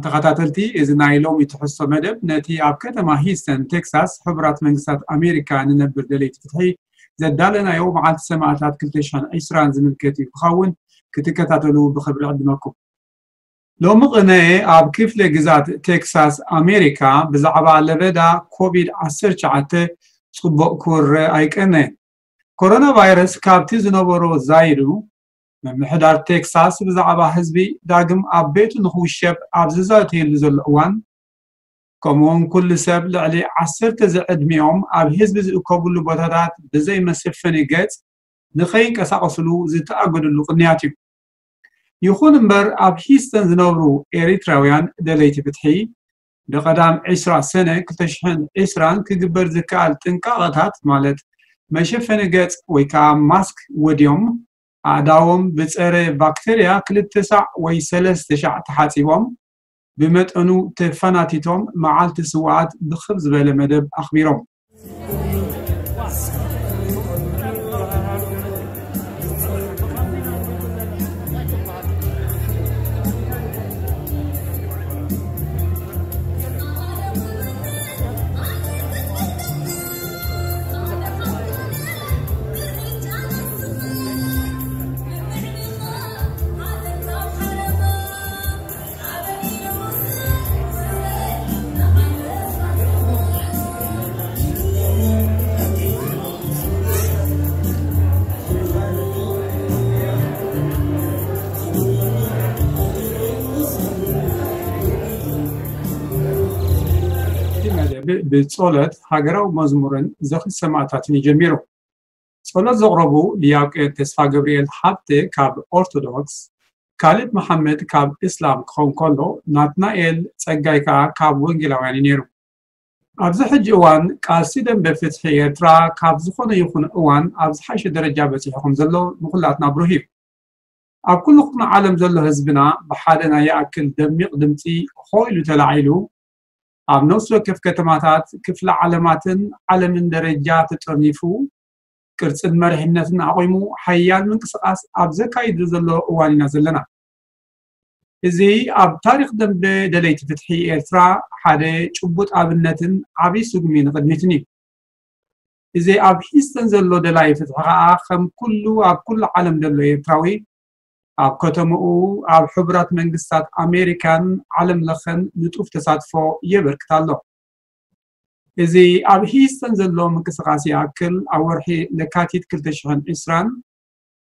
ተኸታተልቲ፣ እዚ ናይ ሎሚ ትሕዝቶ መደብ ነቲ ኣብ ከተማ ሂስተን ቴክሳስ ሕቡራት መንግስታት ኣሜሪካ ንነብር ደለይቲ ፍትሒ ዘዳለናዮ መዓልቲ ሰማእታት ክልተ ሽሕን ዕስራን ዝምልከት እዩ ክኸውን። ክትከታተሉ ብኽብሪ ዕድመኩም። ሎሚ ቅነ ኣብ ክፍለ ግዛት ቴክሳስ ኣሜሪካ ብዛዕባ ለበዳ ኮቪድ ዓሰርተ ትሽዓተ ጽቡቕ ክውረ ኣይቀነን። ኮሮና ቫይረስ ካብቲ ዝነበሮ ዛይዱ፣ ምምሕዳር ቴክሳስ ብዛዕባ ህዝቢ ዳግም ኣብ ቤቱ ንኽውሸብ ኣብ ዝዛተየሉ ዘሎ እዋን፣ ከምኡውን ኩሉ ሰብ ልዕሊ ዓሰርተ ዝዕድሚኦም ኣብ ህዝቢ ዝእከብሉ ቦታታት ብዘይ መሸፈኒ ገጽ ንኸይንቀሳቐስሉ ዝተኣገደሉ ቅንያት እዩ። ይኹን እምበር፣ ኣብ ሂስተን ዝነብሩ ኤሪትራውያን ደለይቲ ፍትሒ፣ ብቐዳም ዕስራ ሰነ ክልተ ሽሕን ዕስራን ክግበር ዝከኣል ጥንቃቐታት፣ ማለት መሸፈኒ ገጽ ወይ ከዓ ማስክ ወድዮም፣ ኣእዳዎም ብጸረ ባክተርያ ክልተ ሳዕ ወይ ሰለስተ ሻዕ ተሓጺቦም፣ ብመጠኑ ተፈናቲቶም መዓልቲ ስውኣት ብኽብ ዝበለ መደብ ኣኽቢሮም። እቲ መደብ ብጸሎት፣ ሃገራዊ መዝሙርን ዝኽሪ ሰማእታትን እዩ ጀሚሩ። ጸሎት ዘቕረቡ ዲያቆን ተስፋ ገብርኤል ሃብተ ካብ ኦርቶዶክስ፣ ካሌብ መሓመድ ካብ እስላም ክኸውን ከሎ፣ ናትናኤል ጸጋይ ከኣ ካብ ወንጌላውያን እዩ ነይሩ። ኣብዚ ሕጂ እዋን ቃልሲ ደንበ ፍትሒ ኤርትራ ካብ ዝኾነ ይኹን እዋን ኣብ ዝሓሸ ደረጃ በጺሑ ከም ዘሎ ንኹላትና ብሩህ እዩ። ኣብ ኩሉ ኩርናዕ ዓለም ዘሎ ህዝብና ብሓደ ናይ ይኣክል ደሚቕ ድምጺ ሆ ኢሉ ተላዒሉ፣ ኣብ ነፍሲ ወከፍ ከተማታት፣ ክፍለ ዓለማትን ዓለምን ደረጃ ተጠርኒፉ፣ ቅርጽን መሪሕነትን ኣቑሙ ሓያል ምንቅስቓስ ኣብ ዘካይዱ ዘሎ እዋን ኢና ዘለና። እዚ ኣብ ታሪኽ ደንበ ደለይቲ ፍትሒ ኤርትራ ሓደ ጭቡጥ ኣብነትን ዓቢ ስጉሚ ንቕድሚትን እዩ። እዚ ኣብ ሂስተን ዘሎ ደላይ ፍትሒ ከኣ ከም ኩሉ ኣብ ኩሉ ዓለም ዘሎ ኤርትራዊ ኣብ ከተማኡ ኣብ ሕቡራት መንግስታት ኣሜሪካን ዓለም ለኸን ንጡፍ ተሳትፎ የበርክት ኣሎ። እዚ ኣብ ሂስተን ዘሎ ምንቅስቓስ ይኣክል ኣብ ወርሒ ለካቲት ክልተ ሽሕን ዕስራን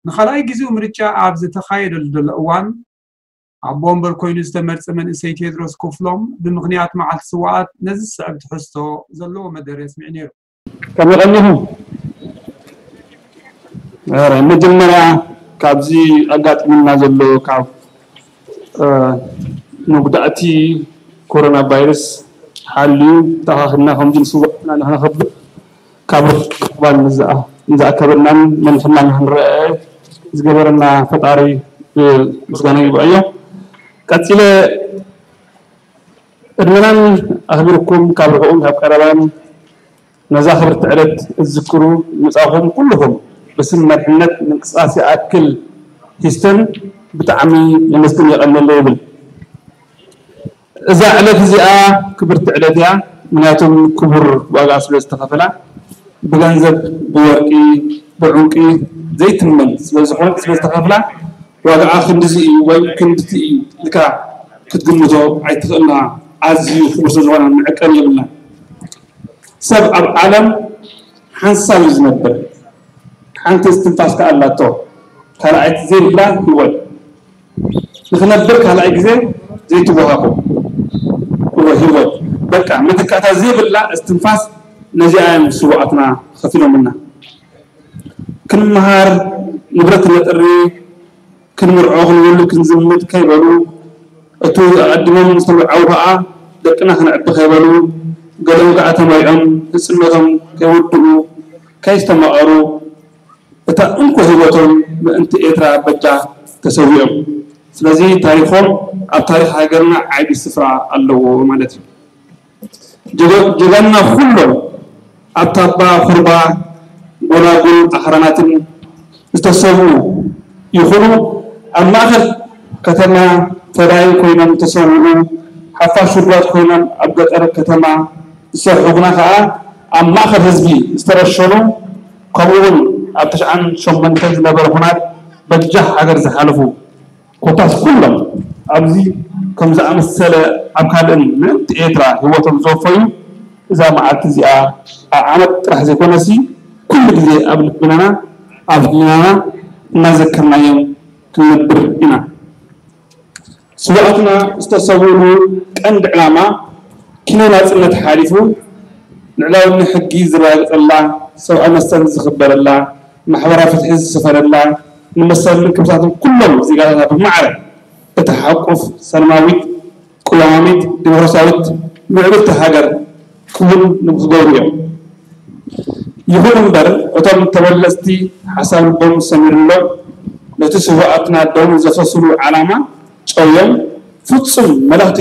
ንኻልኣይ ግዜኡ ምርጫ ኣብ ዝተኻየደሉ ዘሎ እዋን ኣቦ ወንበር ኮይኑ ዝተመርጸ መንእሰይ ቴድሮስ ክፍሎም ብምኽንያት መዓልቲ ስውኣት ነዚ ዝስዕብ ትሕዝቶ ዘለዎ መደረ ኣስሚዑ ነይሩ። ከመይ ቀኒኹም? ኧረ፣ መጀመርያ ካብዚ ኣጋጢሙና ዘሎ ካብ፣ እ፣ መጉዳእቲ ኮሮና ቫይረስ ሓልዩ ተኻኽልና ከምዚ ንስውኣትና ንኽነኽብር ካብ ርሑቕ ቀረባን ንዝኣ-፣ ንዝኣከበናን መንፈና ንኽንረአ ዝገበረና ፈጣሪ፣ እ፣ ምስጋና ይግባእዮ። ቀጺለ ዕድመናን ኣኽቢርኩም ካብ ርሑቕን ካብ ቀረባን ነዛ ክብርቲ ዕለት እትዝክሩ ምጻኹም ኩልኹም ብስም መሪሕነት ምንቅስቃስ ይኣክል ሂስተን ብጣዕሚ የመስግን የቐንየለይ ይብል። እዛ ዕለት እዚኣ ክብርቲ ዕለት እያ፣ ምኽንያቱም ክቡር ዋጋ ስለ ዝተኸፈላ፣ ብገንዘብ፣ ብወርቂ፣ ብዕንቂ ዘይትመን ስለ ዝኾነት፣ ስለ ዝተኸፍላ፣ ዋጋኣ ክንድዚ እዩ ወይ ክንድቲ እዩ ኢልካ ክትግምቶ ኣይትኽእልና። ኣዝዩ ክቡር ስለ ዝኾነ መዐቀኒ የብልናን። ሰብ ኣብ ዓለም ሓንሳብ እዩ ዝነብር። ሓንቲ እስትንፋስ ከኣ ኣላቶ፣ ካልኣይቲ ዘይብላ ህይወት። ንኽነብር ካልኣይ ግዜ ዘይትወሃቦ እወ ህይወት፣ በቃ መተካእታ ዘይብላ እስትንፋስ፣ ነዚኣ እዮም ስውኣትና ከፊሎምልና። ክንመሃር፣ ንብረት ክነጥሪ፣ ክንምርዖ፣ ክንውልድ፣ ክንዝምድ ከይበሉ፣ እቱ ኣቐዲሞም ዝተመርዓዉ ከኣ ደቅና ክነዕቢ ከይበሉ፣ ገሊኦም ከኣ ተመሪዖም ህጽነቶም ከይውድኡ፣ ከይስተማቐሩ፣ እታ እንኮ ህይወቶም ምእንቲ ኤርትራ በጃ ተሰዊኦም። ስለዚ ታሪኾም ኣብ ታሪኽ ሃገርና ዓቢ ስፍራ ኣለዎ ማለት እዩ። ጀገ-፣ ጀጋኑና ኩሎም ኣብ ታባ፣ ኩርባ፣ ጎላጉል፣ ኣኽራናትን ዝተሰውኡ ይኹኑ፣ ኣብ ማእከል ከተማ ተራይ ኮይኖም ዝተሰውኡ ሓፋሽ ውዱባት ኮይኖም ኣብ ገጠር ከተማ ዝሰርሑ ግና ከኣ ኣብ ማእከል ህዝቢ ዝተረሸኑ፣ ከምኡ እውን ኣብ ተሽዓን ሸሞንተን ዝነበረ ኹናት በጃ ሃገር ዝሓለፉ ኮታስ ኩሎም ኣብዚ ከም ዝኣመሰለ ኣብ ካልእን ምእንቲ ኤርትራ ህይወቶም ዝወፈዩ እዛ መዓልቲ እዚኣ ኣብ ዓመት ጥራሕ ዘይኮነሲ ኩሉ ግዜ ኣብ ልብናና ኣብ ህሊናና እናዘከርናዮም ክንነብር ኢና። ስውኣትና ዝተሰውእሉ ቀንዲ ዕላማ ኪኖ ናጽነት ሓሊፉ ልዕላውነት ሕጊ ዝረጋገጸላ፣ ሰብኣዊ መሰል ዝኽበረላ፣ ማሕበራዊ ፍትሒ ዝሰፈነላ፣ ንመሰልን ክብርታትን ኩሎም ዜጋታታ ብማዕረ እትሓቁፍ ሰላማዊት፣ ቅዋማዊት፣ ዲሞክራሲያዊት፣ ምዕብልቲ ሃገር ክውን ንክገብሩ እዮም። ይኹን እምበር እቶም ተበለጽቲ ሓሳብ ልቦም ሰሚርሎም ነቲ ስውኣትና ደም ዘፈስሉ ዓላማ ጨውዮም ፍጹም መለኽቲ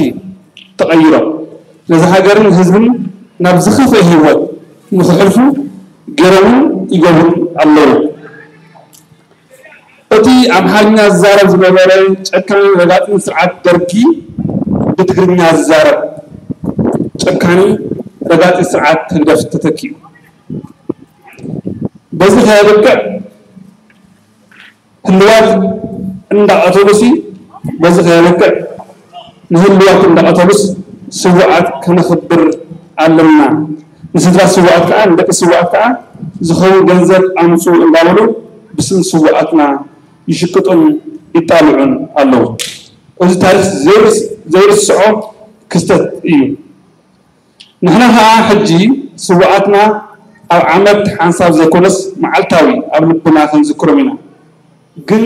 ተቐይሮም ነዚ ሃገርን ህዝብን ናብ ዝኸፍአ ህይወት ንክሕልፉ ገይሮምን ይገብሩን ኣለዉ። እቲ ኣምሓርኛ ዝዛረብ ዝነበረ ጨካንን ረጋጽን ስርዓት ደርጊ ብትግርኛ ዝዛረብ ጨካኒ ረጋጺ ስርዓት ህግደፍ ተተኪኡ። በዚ ከየብቅዕ ህልዋት እንዳቐተሉሲ በዚ ከየብቅዕ ንህልዋት እንዳቐተሉስ ስውኣት ከነኽብር ኣለና። ንስድራ ስውኣት ከዓ ንደቂ ስውኣት ከዓ ዝኸውን ገንዘብ ኣምፁ እንዳበሉ ብስም ስውኣትና ይሽቅጡን ይጣልዑን ኣለዉ። እዚ ታሪክ ዘይርስ- ዘይርስዖ ክስተት እዩ። ንሕና ከዓ ሕጂ ስውኣትና ኣብ ዓመት ሓንሳብ ዘይኮነስ መዓልታዊ ኣብ ልብና ክንዝክሮም ኢና። ግን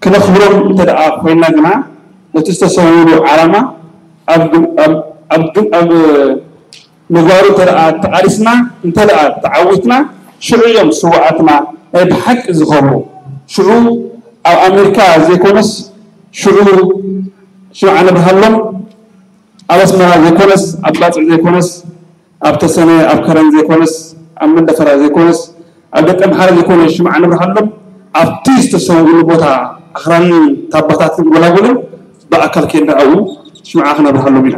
ክነኽብሮም እንተ ደኣ ኮይና ግና ነቲ ዝተሰውሉ ዓላማ ኣብ ግ- ኣብ- ኣብ ግ- ኣብ ምግባሩ እንተ ደኣ ተቓሊስና እንተ ደኣ ተዓዊትና ሽዑ እዮም ስውኣትና ናይ ብሓቂ ዝኸብሩ። ሽዑ ኣብ ኣሜሪካ ዘይኮነስ ሽዑ ሽምዓ ነብርሃሎም ኣብ ኣስመራ ዘይኮነስ ኣብ ባጽዕ ዘይኮነስ ኣብ ተሰነ ኣብ ከረን ዘይኮነስ ኣብ መንደፈራ ዘይኮነስ ኣብ ደቀምሓረ ዘይኮነ ሽምዓ ነብርሃሎም ኣብቲ ዝተሰውእሉ ቦታ ኣኽራንን ታባታትን ጎላጉልን ብኣካል ከይድና ኣብኡ ሽምዓ ክነብርሃሎም ኢና።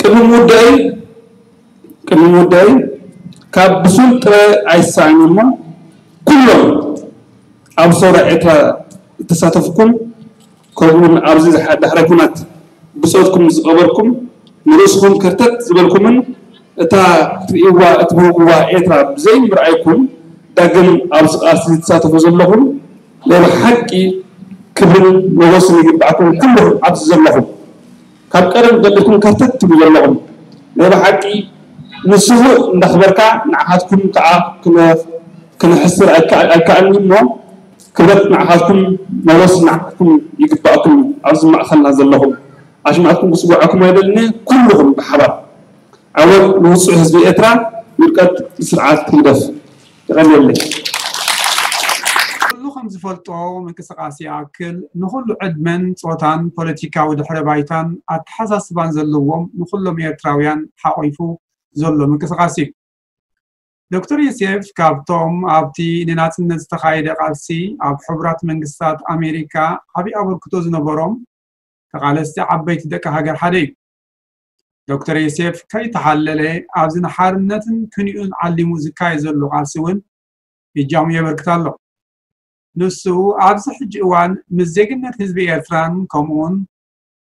ቅድሚ ምውዳእይ ቅድሚ ምውዳእይ ካብ ብሱል ጥረ ኣይሰኣን እሞ ኩሎም ኣብ ሰውራ ኤርትራ እተሳተፍኩም ከምኡውን ኣብዚ ዝሓ- ዳሕረ ኩናት ብጾትኩም ዝቐበርኩም ንርእስኹም ከርተት ዝበልኩምን እታ ክትርእይዋ እትብህግዋ ኤርትራ ብዘይ ምርኣይኩም ዳግም ኣብዚ ቃልሲ ዝትሳተፉ ዘለኹም ናይ ብሓቂ ክብርን ሞጎስን ይግባእኩም ኩልኹም ኣብዚ ዘለኹም ካብ ቀደም ጀሚርኩም ከርተት ትብሉ ዘለኹም ናይ ብሓቂ ንስውእ እንዳኽበርካ ንዓኻትኩም ከዓ ክነ- ክነሕስር ኣይከኣል- ኣይከኣልን እሞ ክብረት ንዓኻትኩም ሞጎስ ንዓኻትኩም ይግባእኩም ኣብዚ ማእኸልና ዘለኹም ኣሽማዕኩም ክስውዓኩም ኣይደልን ኩልኹም ብሓባር ዓወት ንውፁዕ ህዝቢ ኤርትራ ውድቀት ስርዓት ህግደፍ ይቐልየለይ። ኩሉ ከም ዝፈልጦ ምንቅስቃስ ይኣክል ንኩሉ ዕድመን ፆታን ፖለቲካዊ ድሕረ ባይታን ኣተሓሳስባን ዘለዎም ንኩሎም ኤርትራውያን ሓቆይፉ ዘሎ ምንቅስቃስ እዩ። ዶክተር ዮሴፍ ካብቶም ኣብቲ ንናፅነት ዝተኻየደ ቃልሲ ኣብ ሕቡራት መንግስታት ኣሜሪካ ዓብዪ ኣበርክቶ ዝነበሮም ተቓለስቲ ዓበይቲ ደቂ ሃገር ሓደ እዩ። ዶክተር ዮሴፍ ከይተሓለለ ኣብዚ ንሓርነትን ክንዩን ዓሊሙ ዝካየድ ዘሎ ቃልሲ እውን እጃሙ የበርክት ኣሎ። ንሱ ኣብዚ ሕጂ እዋን ምስ ዜግነት ህዝቢ ኤርትራን ከምኡውን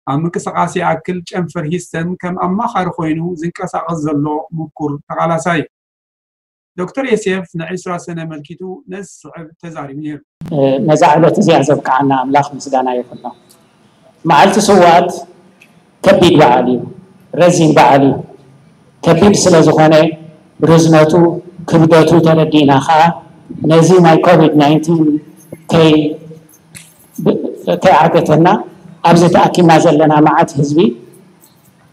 ኣብ ምንቅስቃስ ይኣክል ጨንፈር ሂስተን ከም ኣማኻሪ ኮይኑ ዝንቀሳቐስ ዘሎ ምኩር ተቓላሳይ እዩ። ዶክተር ዮሴፍ ንዒስራ ሰነ ኣመልኪቱ ነዚ ዝስዕብ ተዛሪቡ ነይሩ። ነዛ ዕለት እዚኣ ዘብቅዓና ኣምላኽ ምስጋና ይኹኖ። መዓልቲ ስውኣት ከቢድ በዓል እዩ፣ ረዚን በዓል እዩ። ከቢድ ስለ ዝኾነ ርዝነቱ ክብደቱ ተረዲእና ከዓ ነዚ ናይ ኮቪድ ናይንቲን ከይ ከይዓገተና ኣብዚ ተኣኪብና ዘለና መዓት ህዝቢ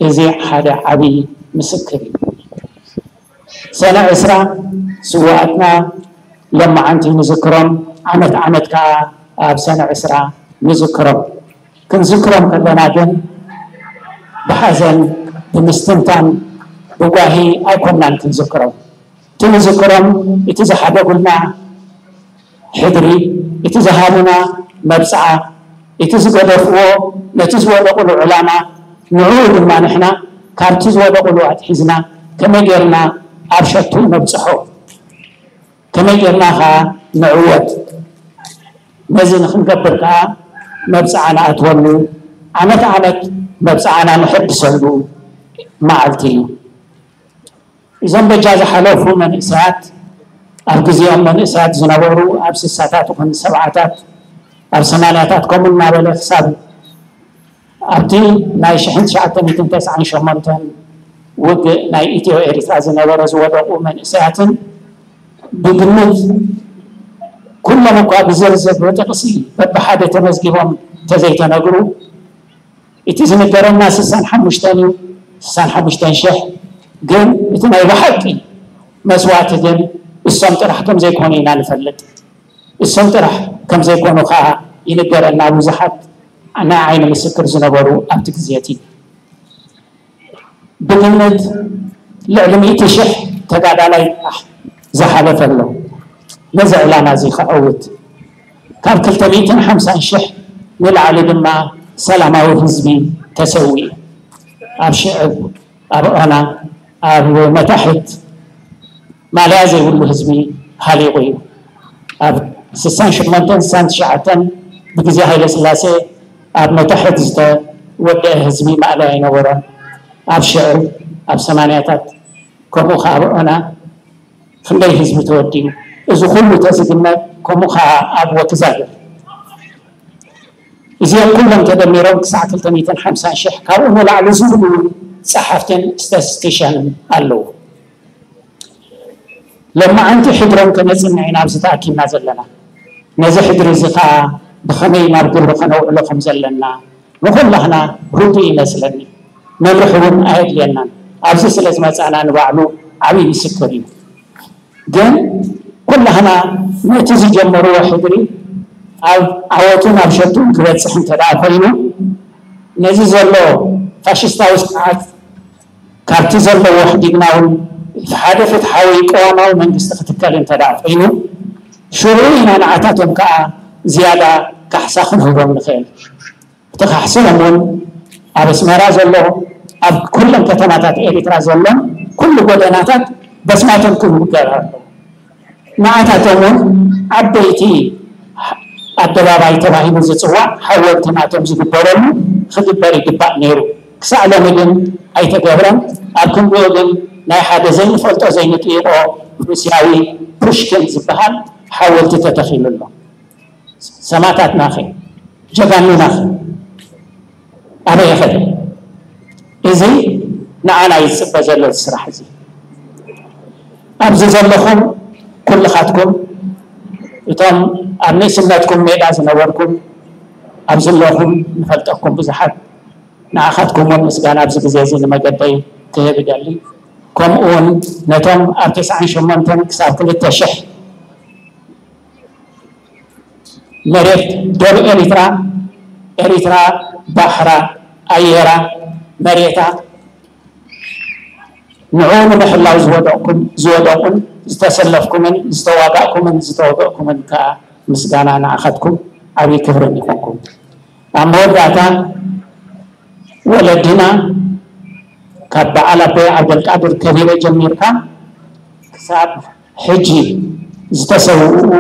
እዚ ሓደ ዓብዪ ምስክር እዩ። ሰነ ዕስራ ስውኣትና ለማዓንቲ ንዝክሮም፣ ዓመት ዓመት ከዓ ኣብ ሰነ ዕስራ ንዝክሮም። ክንዝክሮም ከለና ግን ብሓዘን፣ ብምስትንታን፣ ብጓሂ ኣይኮናን ክንዝክሮም። እቲ ንዝክሮም እቲ ዝሓደጉልና ሕድሪ፣ እቲ ዝሃቡና መብፅዓ፣ እቲ ዝገደፍዎ ነቲ ዝወደቑሉ ዕላማ፣ ንዕኡ ድማ ንሕና ካብቲ ዝወደቑሉ ኣትሒዝና ከመይ ጌርና ኣብ ሸቱ ነብጽሖ፣ ከመይ ጌርና ኸኣ ንዕወት። ነዚ ንኽንገብር ከኣ መብጽዓ ንኣትወሉ፣ ዓመት ዓመት መብጽዓና ንሕድሰሉ መዓልቲ እዩ። እዞም በጃ ዝሓለፉ መንእሰያት፣ ኣብ ግዜኦም መንእሰያት ዝነበሩ፣ ኣብ ስሳታት ይኹን ሰብዓታት፣ ኣብ ሰማንያታት ከምኡ እናበለ ክሳብ ኣብቲ ናይ ሽሕን ትሽዓተ ሚእትን ተስዓን ሸሞንተን ውግእ ናይ ኢትዮ ኤሪትራ ዝነበረ ዝወደቑ መንእሰያትን ብግምት ኩሎም እኳ ብዝርዝር ብጥቕሲ በብሓደ ተመዝጊቦም ተዘይተነግሩ፣ እቲ ዝንገረና ስሳን ሓሙሽተን እዩ፣ ስሳን ሓሙሽተን ሽሕ። ግን እቲ ናይ ብሓቂ መስዋእቲ ግን እሶም ጥራሕ ከም ዘይኮኑ ኢና ንፈልጥ። እሶም ጥራሕ ከም ዘይኮኑ ከዓ ይንገረና። ብዙሓት ናይ ዓይኒ ምስክር ዝነበሩ ኣብቲ ግዜ እቲ ብግምት ልዕሊ ሚእቲ ሽሕ ተጋዳላይ ጥራሕ ዝሓለፈ ኣሎ። ነዚ ዕላማ እዚ ክዕውት ካብ ክልተ ሚእትን ሓምሳን ሽሕ ንላዕሊ ድማ ሰላማዊ ህዝቢ ተሰዊኡ። ኣብ ሽዕብ፣ ኣብ ዖና፣ ኣብ መታሕት ማልያ ዘይብሉ ህዝቢ ሃሊቑ እዩ። ኣብ ስሳን ሸሞንተን ስሳን ትሽዓተን ብግዜ ሃይለ ስላሴ ኣብ መታሕት ዝተወደአ ህዝቢ ማእለያ ኣይነበሮን። ኣብ ሽዕብ፣ ኣብ ሰማንያታት፣ ከምኡ ኸዓ ኣብ ዖና ክንደይ ህዝቢ ተወዲኡ። እዚ ኩሉ ተዝግመት፣ ከምኡ ኸዓ ኣብ ወክዛግር። እዚኦም ኩሎም ተደሚሮም ክሳዕ ክልተ ሚእትን ሓምሳን ሽሕ፣ ካብኡ ንላዕሊ ዝብሉ እውን ጸሓፍትን ስታቲስቲሻንን ኣለዉ። ሎማዓንቲ ሕድሮም ከነጽንዕ ኢና ኣብዚ ተኣኪብና ዘለና። ነዚ ሕድሪ እዚ ኸኣ ብኸመይ ናብ ግብሪ ከነውዕሎ ከም ዘለና ንኹላህና ርዱእ ይመስለኒ። መምርሒ እውን ኣየድልየናን። ኣብዚ ስለ ዝመጻና ንባዕሉ ዓብዪ ምስክር እዩ። ግን ኩላህና ነቲ ዝጀመርዎ ሕድሪ ኣብ ዓወቱን ኣብ ሸቱን ክበጽሕ እንተ ደኣ ኮይኑ፣ ነዚ ዘሎ ፋሽስታዊ ስርዓት ካብቲ ዘለዎ ሕዲግና እውን ሓደ ፍትሓዊ ቅዋማዊ መንግስቲ ክትከል እንተ ደኣ ኮይኑ፣ ሽዑ ኢና ንዓታቶም ከኣ ዝያዳ ካሕሳ ክንህቦም ንኽእል። እቲ ካሕስኦም እውን ኣብ ኣስመራ ዘሎ፣ ኣብ ኩለን ከተማታት ኤሪትራ ዘሎ ኩሉ ጎደናታት በስማቶም ክውገር ኣለዎ። ንዓታቶም እውን ዓበይቲ ኣደባባይ ተባሂሉ ዝጽዋዕ ሓወልቲ ናቶም ዝግበረሉ ክግበር ይግባእ ነይሩ። ክሳዕ ሎሚ ግን ኣይተገብረን። ኣብ ክንድኡ ግን ናይ ሓደ ዘይንፈልጦ ዘይንጥይቖ ሩስያዊ ፑሽኪን ዝበሃል ሓወልቲ ተተኺሉ ኣሎ። ሰማእታትናኸ? ጀጋኑናኸ? ኣበይ ኸደ? እዚ ንዓና እዩ ዝጽበ ዘሎ እዚ ስራሕ እዚ። ኣብዚ ዘለኹም ኩልኻትኩም፣ እቶም ኣብ ንእስነትኩም ሜዳ ዝነበርኩም፣ ኣብዚ ዘለኹም ንፈልጠኩም ብዙሓት፣ ንዓኻትኩም እውን ምስጋና ኣብዚ ግዜ እዚ ንመገደይ ክህብ እደሊ። ከምኡ እውን ነቶም ኣብ ተስዓን ሸሞንተን ክሳብ ክልተ ሽሕ መሬት ዶብ ኤሪትራ፣ ኤሪትራ ባሕራ፣ ኣየራ፣ መሬታ፣ ንዕኡ ንምሕላው ዝወደቕኩም፣ ዝወደቑን ዝተሰለፍኩምን ዝተዋጋእኩምን ዝተወገእኩምን ከኣ ምስጋና ንዓኻትኩም ዓብዪ ክብርን ይኹንኩም። ኣብ መወዳእታ ወለድና ካብ በዓል ኣቦይ ዓብደልቃድር ከቢረ ጀሚርካ ክሳብ ሕጂ ዝተሰውኡ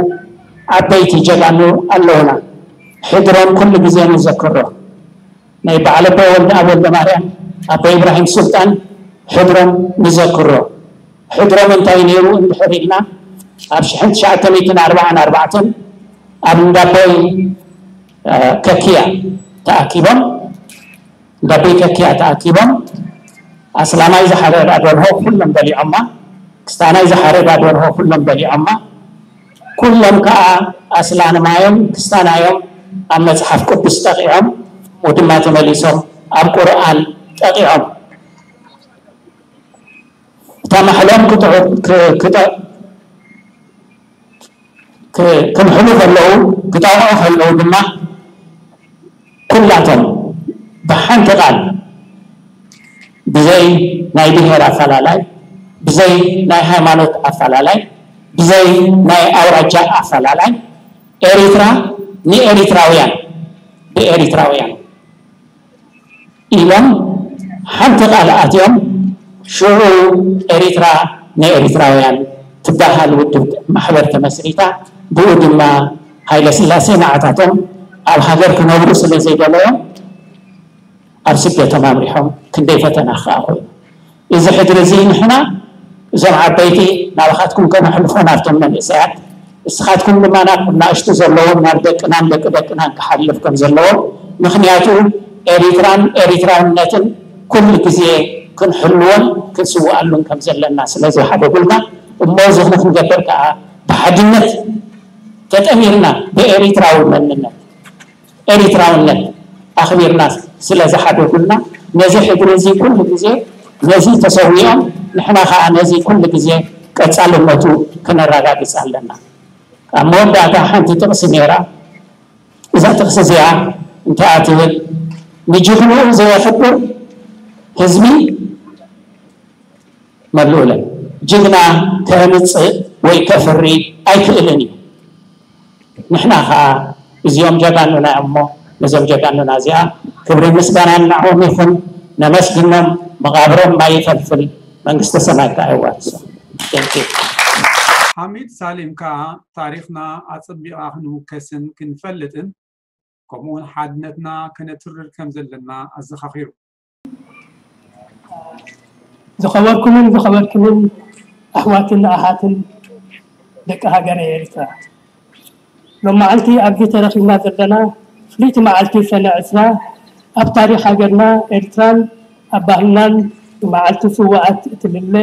ዓበይቲ ጀጋኑ ኣለውና። ሕድሮም ኩሉ ግዜ ንዘክሮ። ናይ በዓል ኣቦይ ወልደኣብ ወልደማርያም፣ ኣቦይ ኢብራሂም ሱልጣን ሕድሮም ንዘክሮ። ሕድሮም እንታይ ነይሩ እንድሕር ኢልና፣ ኣብ ሽሕን ትሽዓተ ሚእትን ኣርባዓን ኣርባዕተን ኣብ እንዳቦይ ከኪያ ተኣኪቦም፣ እንዳቦይ ከኪያ ተኣኪቦም ኣስላማይ ዝሓረዳ ደርሆ ኩሎም በሊዖማ፣ ክስታናይ ዝሓረዳ ደርሆ ኩሎም በሊዖማ። ኩሎም ከኣ ኣስላማዮም ክስታናዮም ኣብ መጽሓፍ ቅዱስ ጠቒዖም፣ ወድማ ተመሊሶም ኣብ ቁርኣን ጠቒዖም። እታ ማሕሎም ክጥዑ- ክ- ክጠ- ክ- ክምሕሉ ከለዉ፣ ክጠቕዑ ከለዉ ድማ ኩላቶም ብሓንቲ ቃል ብዘይ ናይ ብሄር ኣፈላላይ፣ ብዘይ ናይ ሃይማኖት ኣፈላላይ፣ ብዘይ ናይ ኣውራጃ ኣፈላላይ ኤሪትራ ንኤሪትራውያን ብኤሪትራውያን ኢሎም ሓንቲ ቃል ኣትዮም። ሽዑ ኤሪትራ ናይ ኤሪትራውያን ትበሃል ውድብ ማሕበር ተመስሪታ። ብኡ ድማ ሃይለ ስላሴ ንዓታቶም ኣብ ሃገር ክነብሩ ስለ ዘይደለዮም ኣብ ስደቶም ኣምሪሖም። ክንደይ ፈተና ከዓ ኮይኑ እዚ ሕድሪ እዚ ንሕና እዞም ዓበይቲ ናባኻትኩም ከነሕልፎ ናብቶም መንእሰያት፣ እስኻትኩም ድማ ናብ ናእሽቱ ዘለዎም ናብ ደቅናን ደቂ ደቅናን ክሓልፍ ከም ዘለዎ። ምክንያቱ ኤሪትራን ኤሪትራውነትን ኩሉ ግዜ ክንሕልዎን ክንስውኣሉን ከም ዘለና ስለ ዝሓደጉልና፣ እሞ እዚ ክንገብር ከዓ ብሓድነት ተጠሚርና ብኤሪትራዊ መንነት ኤሪትራውነት ኣኽቢርና ስለ ዝሓደጉልና፣ ነዚ ሕድሪ እዚ ኩሉ ግዜ ነዚ ተሰዊኦም፣ ንሕና ከዓ ነዚ ኩሉ ግዜ ቀጻልነቱ ክነረጋግጽ ኣለና። ኣብ መወዳእታ ሓንቲ ጥቕሲ ነይራ። እዛ ጥቕሲ እዚኣ እንታይ እያ ትብል? ንጅግንኡ ዘየኽብር ህዝቢ መሉእለን ጅግና ከህምፅእ ወይ ከፍሪ ኣይክእልን እዩ። ንሕና ከዓ እዚኦም ጀጋኑና እዮም እሞ ነዞም ጀጋኑና እዚኣ ክብሪ ምስጋና ንዕኦም ይኹን። ነመስግኖም። መቓብሮም ማይ ይፈልፍል፣ መንግስተ ሰማይ ከዓ የዋርሶም። Thank you። ሓሚድ ሳሊም ከኣ ታሪኽና ኣጸቢቓ ክንውከስን ክንፈልጥን ከምኡውን ሓድነትና ከነትርር ከም ዘለና ኣዘኻኺሩ። ዝኸበርኩምን ዝኸበርክንን ኣሕዋትን ኣሓትን ደቂ ሃገረ ኤርትራ፣ ሎም መዓልቲ ኣብዚ ተረኺብና ዘለና ፍልይቲ መዓልቲ ሰነ ዕስራ ኣብ ታሪኽ ሃገርና ኤርትራን ኣብ ባህልናን ንመዓልቲ ስውኣት እትልለ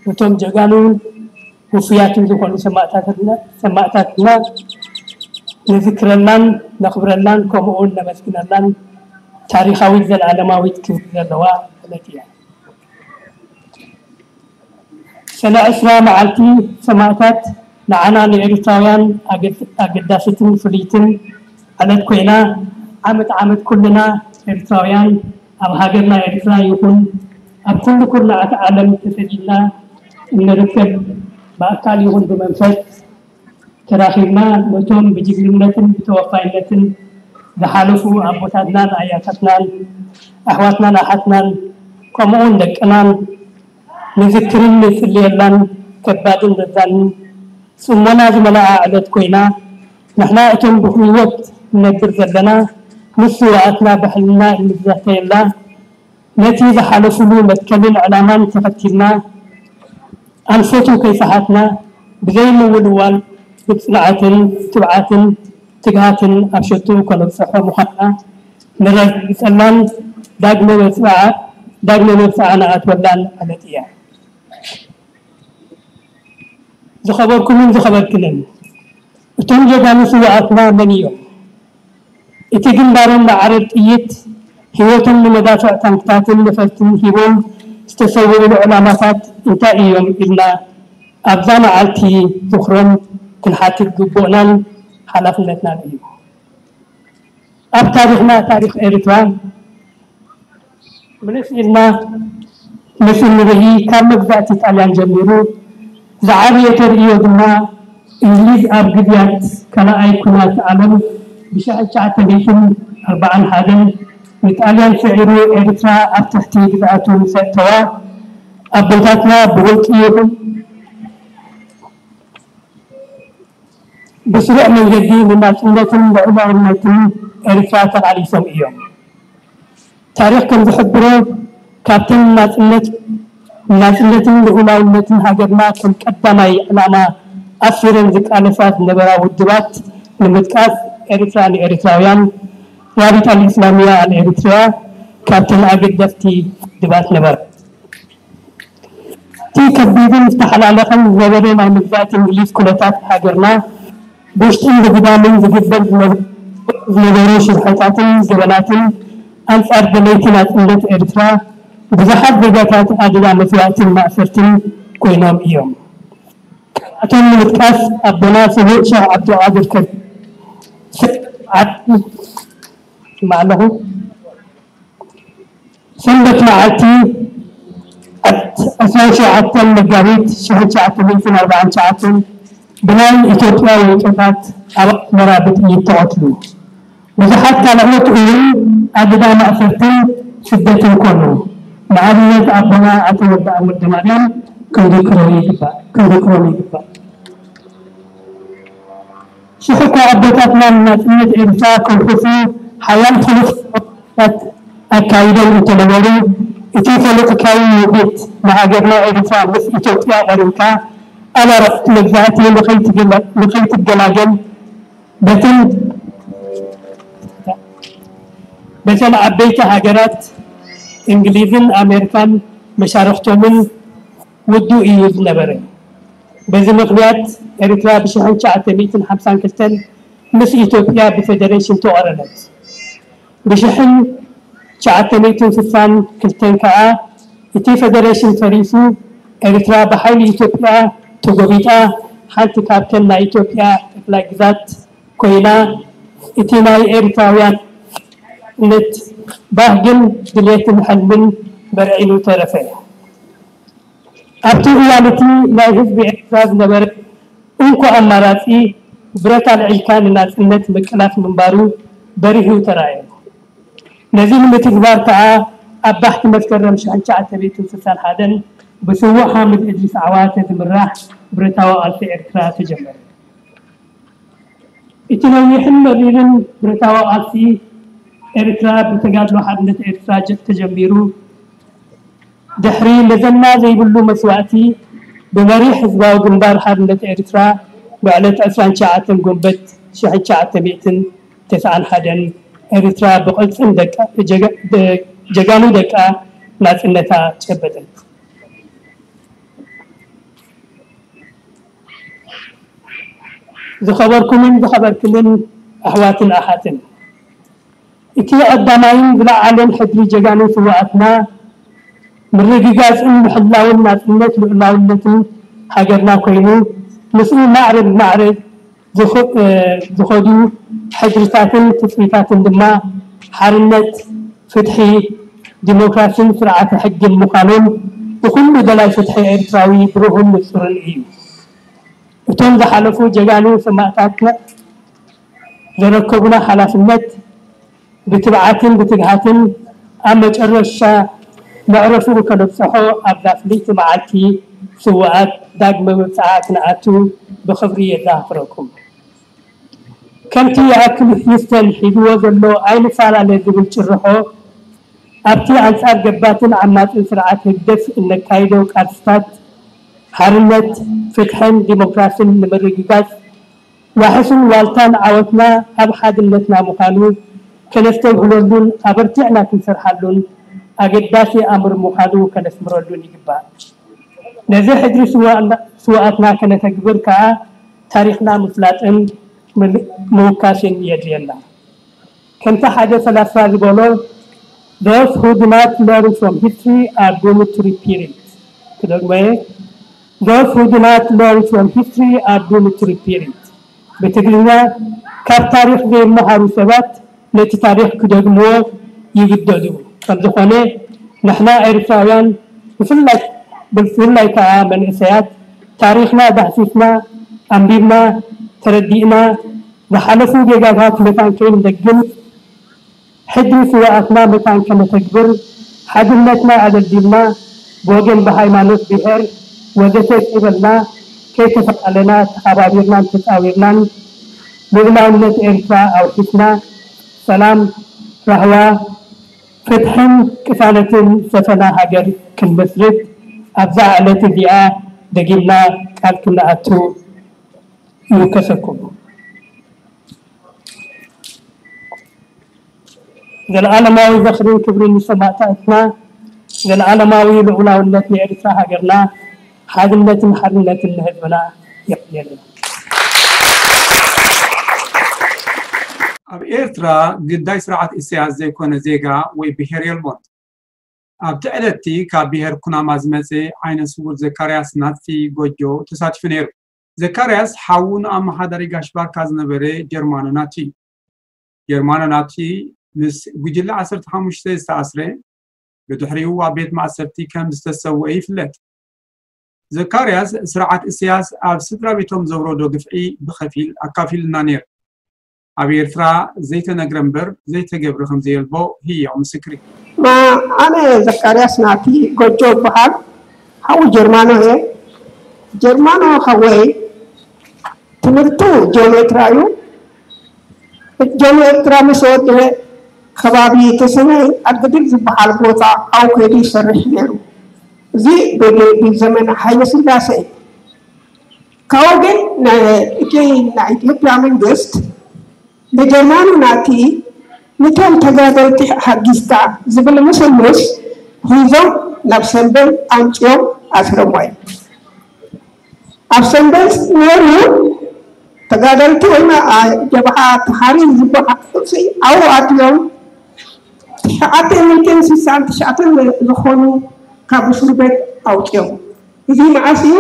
ነቶም ጀጋኑን ውፉያትን ዝኾኑ ሰማእታትና ንዝክረላን ነኽብረላን ከምኡውን ነመስግነላን ታሪኻዊት ዘለኣለማዊት ክብሪ ዘለዋ ዕለት እያ። ሰነ ዕስራ መዓልቲ ሰማእታት ንዓና ንኤርትራውያን ኣገዳሲትን ፍልይትን ዕለት ኮይና ዓመት ዓመት ኩልና ኤርትራውያን ኣብ ሃገርና ኤርትራ ይኹን ኣብ ኩሉ ኩርናዓት ዓለም ተሰዲድና እንርከብ ብኣካል ይኹን ብመንፈስ ተራኺብና ነቶም ብጅግንነትን ብተወፋይነትን ዝሓለፉ ኣቦታትናን ኣያታትናን ኣሕዋትናን ኣሓትናን ከምኡውን ደቅናን ንዝክርን ንጽልየላን ከባድን ዘዛንን ጽሞና ዝመልኣ ዕለት ኮይና ንሕና እቶም ብህይወት ንነብር ዘለና ምስ ስውኣትና ብሕልና እንዛተየላ ነቲ ዝሓለፉሉ መትከልን ዕላማን ተኸቲልና ኣንፈቱ ከይሰሓትና ብዘይምውልዋል ብጽንዓትን ትብዓትን ትግሃትን ኣብ ሸትኡ ከነብጽሖ ምዃንና ነረጋግጸላን ዳግመ መብጽዓ ዳግመ መብጽዓ ንኣትወላን ዕለት እያ። ዝኸበርኩምን ዝኸበርክንን እቶም ጀጋኑ ስውኣትና መን እዮም? እቲ ግንባሮም ንዓረር ጥይት ህይወቶም ንመዳፍዕ ታንክታትን ነፈርትን ሂቦም ዝተሰውእሉ ዕላማታት እንታይ እዮም ኢልና ኣብዛ መዓልቲ ዝኽሮም ክንሓትት ግቡእናን ሓላፍነትናን እዩ። ኣብ ታሪኽና ታሪኽ ኤርትራ ምልስ ኢልና ምስ እንርኢ ካብ መግዛእቲ ጣልያን ጀሚሩ ዝዓበየ ተርእዮ ድማ እንግሊዝ ኣብ ግዝያት ካልኣይ ኩናት ዓለም ብሽሕን ትሽዓተ ሚእትን ኣርባዓን ሓደን ንጣልያን ስዒሩ ኤርትራ ኣብ ትሕቲ ግዝኣቱ ምስ ኣእተዋ ኣቦታትና ብውልቂ ይኹን ብስሩዕ መንገዲ ንናጽነትን ልዑላውነትን ኤርትራ ተቓሊሶም እዮም። ታሪኽ ከም ዝሕብሮ ካብተን ናጽነት ናጽነትን ልዑላውነትን ሃገርና ከም ቀዳማይ ዕላማ ኣሲረን ዝቃለሳ ዝነበራ ውድባት ንምጥቃስ ኤርትራ ንኤርትራውያን፣ ራቢጣ ኣልእስላሚያ ኣልኤርትርያ ካብተን ኣገደስቲ ውድባት ነበራ። እቲ ከቢድን ዝተሓላለኸን ዝነበረ ናይ መግዛእቲ እንግሊዝ ኩነታት ሃገርና ብውሽጥን ብግዳምን ዝግበር ዝነበሩ ሽርሕታትን ገበናትን ኣንጻር ደለይቲ ናጽነት ኤርትራ ብዙሓት ዜጋታት ኣደዳ መስዋእትን ማእሰርትን ኮይኖም እዮም። ካብኣቶም ንምጥቃስ ኣቦና ስዉእ ሸኽ ዓብዱልቃድር ከቢር ሰዓት ይስማዕ ኣለኹ። ሰንበት መዓልቲ ዕስራን ሸውዓተን መጋቢት ሽሕን ትሽዓተ ሚእትን ኣርባዓን ትሽዓተን ብናይ ኢትዮጵያ ወይጦታት ኣብ ኣስመራ ብጥይት ተቐትሉ። ብዙሓት ካልኦት እውን ኣደዳ ማእሰርትን ስደትን ኮኑ። ንኣብነት ኣቦና ኣቶ ወልደኣብ ወልደማርያም ክንዝክሮም ይግባእ፣ ክንዝክሮም ይግባእ። ሽሕ እኳ ኣቦታትና ንናጽነት ኤርትራ ከውሕሱ ሓያል ፖለቲካዊ ኣካይዶም እንተነበሩ፣ እቲ ፖለቲካዊ ውህደት ንሃገርና ኤርትራ ምስ ኢትዮጵያ ቆሪንካ ኣብ ኣረፍት መግዛእቲ ንኸይትገላ-፣ ንኸይትገላገል በተን በተን ዓበይቲ ሃገራት እንግሊዝን ኣሜሪካን መሻርኽቶምን ውዱእ እዩ ዝነበረ። በዚ ምኽንያት ኤርትራ ብሽሕን ትሽዓተ ሚእትን ሓምሳን ክልተን ምስ ኢትዮጵያ ብፌደሬሽን ተቖረነት። ብሽሕን ትሽዓተ ሚእትን ስሳን ክልተን ከኣ እቲ ፌደሬሽን ፈሪሱ፣ ኤርትራ ብሓይሊ ኢትዮጵያ ተጎቢጣ ሓንቲ ካብተን ናይ ኢትዮጵያ ጠቅላይ ግዛት ኮይና፣ እቲ ናይ ኤርትራውያን ነት ባህግን ድሌትን ሕልምን በርዒኑ ተረፈ። ኣብቲ እዋን እቲ ናይ ህዝቢ ኤርትራ ዝነበረ እንኮ ኣማራጺ ብረት ኣልዒልካ ንናጽነት ምቅላስ ምንባሩ በሪሁ ተራእየ። ነዚ ንምትግባር ከኣ ኣብ ባሕቲ መስከረም ሽሕን ትሽዓተ ሚእትን ስሳን ሓደን ብስዉእ ሓምድ እድሪስ ዓዋተ ዝምራሕ ብረታዊ ቃልሲ ኤርትራ ተጀመረ። እቲ ነዊሕን መሪርን ብረታዊ ቃልሲ ኤርትራ ብተጋድሎ ሓርነት ኤርትራ ጀ-፣ ተጀሚሩ፣ ድሕሪ መዘና ዘይብሉ መስዋእቲ ብመሪሕ ህዝባዊ ግንባር ሓርነት ኤርትራ ብዕለት ዕስራን ትሽዓተን ጎንበት ሽሕን ትሽዓተ ሚእትን ተስዓን ሓደን ኤርትራ ብቕልጽም ደቃ፣ ጀጋ-፣ ደ-፣ ጀጋኑ ደቃ ናጽነታ ጨበጠት። ዝኸበርኩምን ዝኸበርክንን ኣሕዋትን ኣሓትን፣ እቲ ቀዳማይን ዝለዓለን ሕድሪ ጀጋኑ ስውኣትና ምርግጋጽን ምሕላውን ናጽነት ልኡላውነትን ሃገርና ኮይኑ፣ ምስኡ ማዕረ ብማዕረ ዝኸ-፣ እ፣ ዝኸዱ ሕድርታትን ትጽቢታትን ድማ ሓርነት፣ ፍትሒ፣ ዲሞክራሲን ስርዓተ ሕግን ምዃኖም ብኹሉ ደላይ ፍትሒ ኤርትራዊ ብሩህን ንጹርን እዩ። እቶም ዝሓለፉ ጀጋኑ ሰማእታትና ዘረከቡና ሓላፍነት ብትብዓትን ብትግሃትን ኣብ መጨረሻ መዕረፍኡ ከነብጽሖ ኣብዛ ፍልይቲ መዓልቲ ስውኣት ዳግመ ምብጻዓ ክንኣቱ ብኽብሪ የዘኻኽረኩም። ከምቲ ይኣክል ሂስተን ሒዝዎ ዘሎ ኣይንፈላለ ዝብል ጭርሖ ኣብቲ ኣንጻር ገባትን ዓማጽን ስርዓት ህግደፍ እነካይዶ ቃልስታት ሓርነት፣ ፍትሕን ዲሞክራስን ንምርግጋጽ ዋሕስን ዋልታን ዓወትና ኣብ ሓድነትና ምዃኑ ከነስተብህለሉን ኣበርቲዕና ክንሰርሓሉን ኣገዳሲ ኣምር ምዃኑ ከነስምረሉን ይግባእ። ነዚ ሕድሪ ስውኣትና፣ ስውኣትና ከነተግብር ከኣ ታሪኽና ምፍላጥን ምል-፣ ምውካስን የድልየና። ከምቲ ሓደ ፈላስፋ ዝበሎ፣ "Those who do not learn from history are doomed to repeat it." ክደግሞ እየ፣ "Those who do not learn from history are doomed to repeat it." ብትግርኛ፣ ካብ ታሪኽ ዘይመሃሩ ሰባት ነቲ ታሪኽ ክደግምዎ ይግደዱ። ከም ዝኾነ፣ ንሕና ኤርትራውያን ብፍላይ፣ ብፍላይ ከኣ መንእሰያት፣ ታሪኽና ዳህሲስና፣ ኣንቢብና፣ ተረዲእና፣ ዝሓለፉ ጌጋታት መታን ከይንደግም፣ ሕድሪ ስውኣትና መታን ከነተግብር፣ ሓድነትና ኣደልዲልና፣ ብወገን ብሃይማኖት፣ ብሄር ወዘተ ከይበልና፣ ከይተፈላለና፣ ተሓባቢርናን ተጻዊርናን፣ ልኡላውነት ኤርትራ ኣውሒስና፣ ሰላም፣ ራህዋ፣ ፍትሕን ቅሳነትን ዝሰፈና ሃገር ክንመስርት ኣብዛ ዕለት እዚኣ ደጊምና ቃል ክንኣቱ ይውከሰኩም። ዘለዓለማዊ ዝኽርን ክብርን ንሰማእታትና፣ ዘለዓለማዊ ልዑላውነት ንኤርትራ ሃገርና፣ ሓድነትን ሓርነትን ንህዝብና። የቐንየልና። ኣብ ኤርትራ ግዳይ ስርዓት ኢሳያስ ዘይኮነ ዜጋ ወይ ብሄር የልቦን። ኣብቲ ዕለትቲ ካብ ብሄር ኩናማ ዝመጸ ዓይነ ስውር ዘካርያስ ናጽፊ ጎጆ ተሳቲፉ ነይሩ። ዘካርያስ ሓዉ ንኣመሓዳሪ ጋሽ ባርካ ዝነበረ ጀርማኖ ናቲ እዩ። ጀርማኖ ናቲ ምስ ጉጅለ ዓሰርተ ሓሙሽተ ዝተኣስረ፣ ብድሕሪኡ ኣብ ቤት ማእሰርቲ ከም ዝተሰወአ ይፍለጥ። ዘካርያስ ስርዓት እስያስ ኣብ ስድራ ቤቶም ዘውረዶ ግፍዒ ብኸፊል ኣካፊሉና ነይሩ። ኣብ ኤርትራ ዘይተነግረ እምበር ዘይተገብረ ከም ዘየልቦ ህያው ምስክር እዩ። ኣነ ዘካርያስ ናቲ ጎጆ እበሃል። ሓው ጀርማኖ እየ። ጀርማኖ ሓወይ ትምህርቱ ጂኦሜትራ እዩ። ጀመ ኤርትራ ምስ ወደበ ከባቢ ተሰነይ ኣድግድል ዝበሃል ቦታ ኣብኡ ከይዱ ይሰርሕ ነይሩ። እዚ ብዘመነ ሃይለ ስላሴ እዩ። ካብኡ ግን እቲ ናይ ኢትዮጵያ መንግስት ንጀርማኑ ናቲ ንቶም ተጋደልቲ ሓጊዝካ ዝብል ምስልምስ ሒዞም ናብ ሰንደል ኣምፅኦም ኣስረሞ እዩ። ኣብ ሰንደል ነይሩ ተጋደልቲ ወይ ጀብሃ ተሓሪ ዝበሃሉ ኣብኡ ኣትዮም ትሽዓተ ሚእትን ስሳን ትሽዓተን ዝኾኑ ካብ እስር ቤት ኣውፅኦም። እዚ መዓስ እዩ?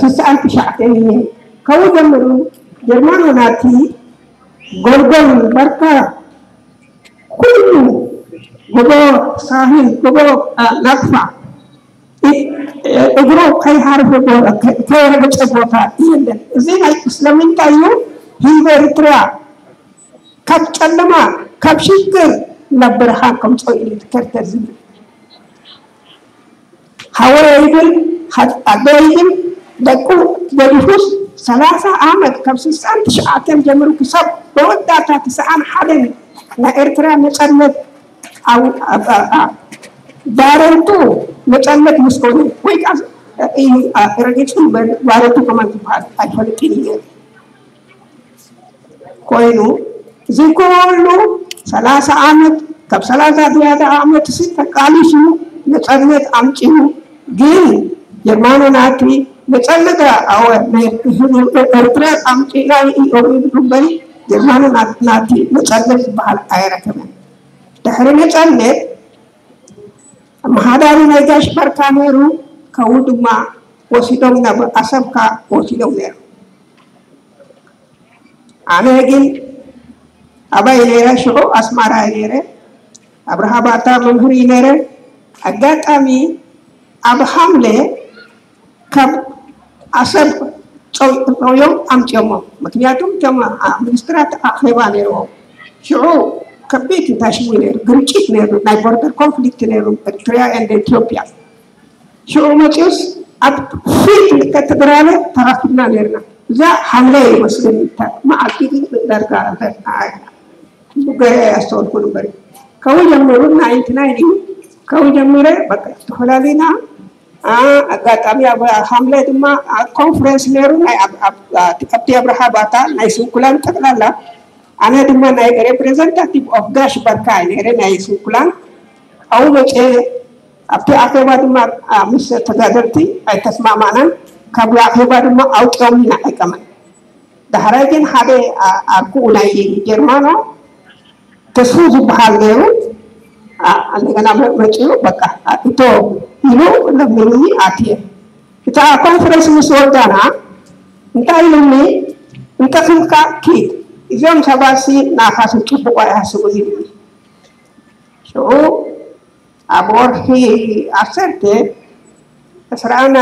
ስሳን ትሽዓተን እዩ። ካብኡ ጀምሩ ጀርማኖ ናቲ ጎልጎል በርካ ኩሉ ጎቦ ሳህል ጎቦ ናቅፋ እግሩ ከይሃርፈ ከይረገጸ ቦታ የለን። እዚ ናይ ስለምንታይ እዩ ህዝቢ ኤርትራ ካብ ጨለማ ካብ ሽግር ናብ ብርሃን ከምፅኦ ኢሉ ከርተር ዝብል ሓወይ ግን ኣደይ ግን ደቁ ገዲፉስ ሰላሳ ዓመት ካብ ስሳን ትሽዓተን ጀምሩ ክሳብ መወዳእታ ትስዓን ሓደን ናይ ኤርትራ ነፃነት ባረንቱ ነፃነት ምስ ኮነ ወይ ከዓ እዩ ረጊፁ ባረንቱ ከማን ዝበሃል ኣይፈልጥን እዩ። ኮይኑ እዚ ኩሉ ሰላሳ ዓመት ካብ ሰላሳ ዝያዳ ዓመት ሲ ተቃሊሱ ነፃነት ኣምፂኡ ግን ጀርማኖ ናቲ ነፃነት ኣወ ናይ ኤርትራ ኣምፂና እዮም ይብሉ እምበሪ ጀርማኖ ናቲ ነፃነት ዝበሃል ኣይረከበን። ድሕሪ ነፃነት ኣመሓዳሪ ናይ ጋሽ በርካ ነይሩ ከው ድማ ወሲዶም ናብ ኣሰብካ ወሲዶም ነይሩ። ኣነ ግን ኣባይ ነይረ ሽዑ ኣስማራ ነይረ ኣብርሃ ባታ መምህር ነይረ ኣጋጣሚ ኣብ ሓምለ ካብ ኣሰብ ፀውዮም ኣምፅዮሞ ምክንያቱም ቶም ሚኒስትራት ኣኼባ ነይርዎም ሽዑ ከቢድ ታሽዊ ነይሩ ግርጭት ነይሩ ናይ ቦርደር ኮንፍሊክት ነይሩ ኤርትሪያ ኤንድ ኢትዮጵያ ሽዑ መፂኡስ ኣብ ፊት ልከ ትግራለ ተራኪብና ነርና እዛ ሓምለ ይመስለኒ መዓልቲ ግን ዳርጋ ገረ ኣስተወልኩ ንበር ከው ጀምሩ ናይንቲ ናይን እዩ ከው ጀምረ በቃ ዝተፈላለና ኣጋጣሚ ኣብ ሓምለ ድማ ኮንፈረንስ ነይሩ ኣብቲ ኣብርሃ ባታ ናይ ስንኩላን ጠቅላላ ኣነ ድማ ናይ ሬፕሬዘንታቲቭ ኦፍ ጋሽ በርካ ነይረ ናይ ስንኩላን ኣብኡ መፀ ኣብቲ ኣኼባ ድማ ምስ ተጋደልቲ ኣይተስማማዕናን ካብ ኣኼባ ድማ ኣውፅኦም ኢና ኣይቀመን ዳሕራይ ግን ሓደ ኣርኩኡ ናይ ጀርማኖ ተስፉ ዝበሃል ነይሩ እንደገና መፂኡ በቃ እቶ ኢሉ ለሚኑኒ ኣትየ እታ ኮንፈረንስ ምስ ወዳና እንታይ ኢሉኒ እንተክልካ ኪድ እዚኦም ሰባት ሲ ናኻስ ፅቡቅ ኣይሃስቡ ኢሉኒ ሽዑ ኣብ ወርሒ ዓሰርተ ዕስራና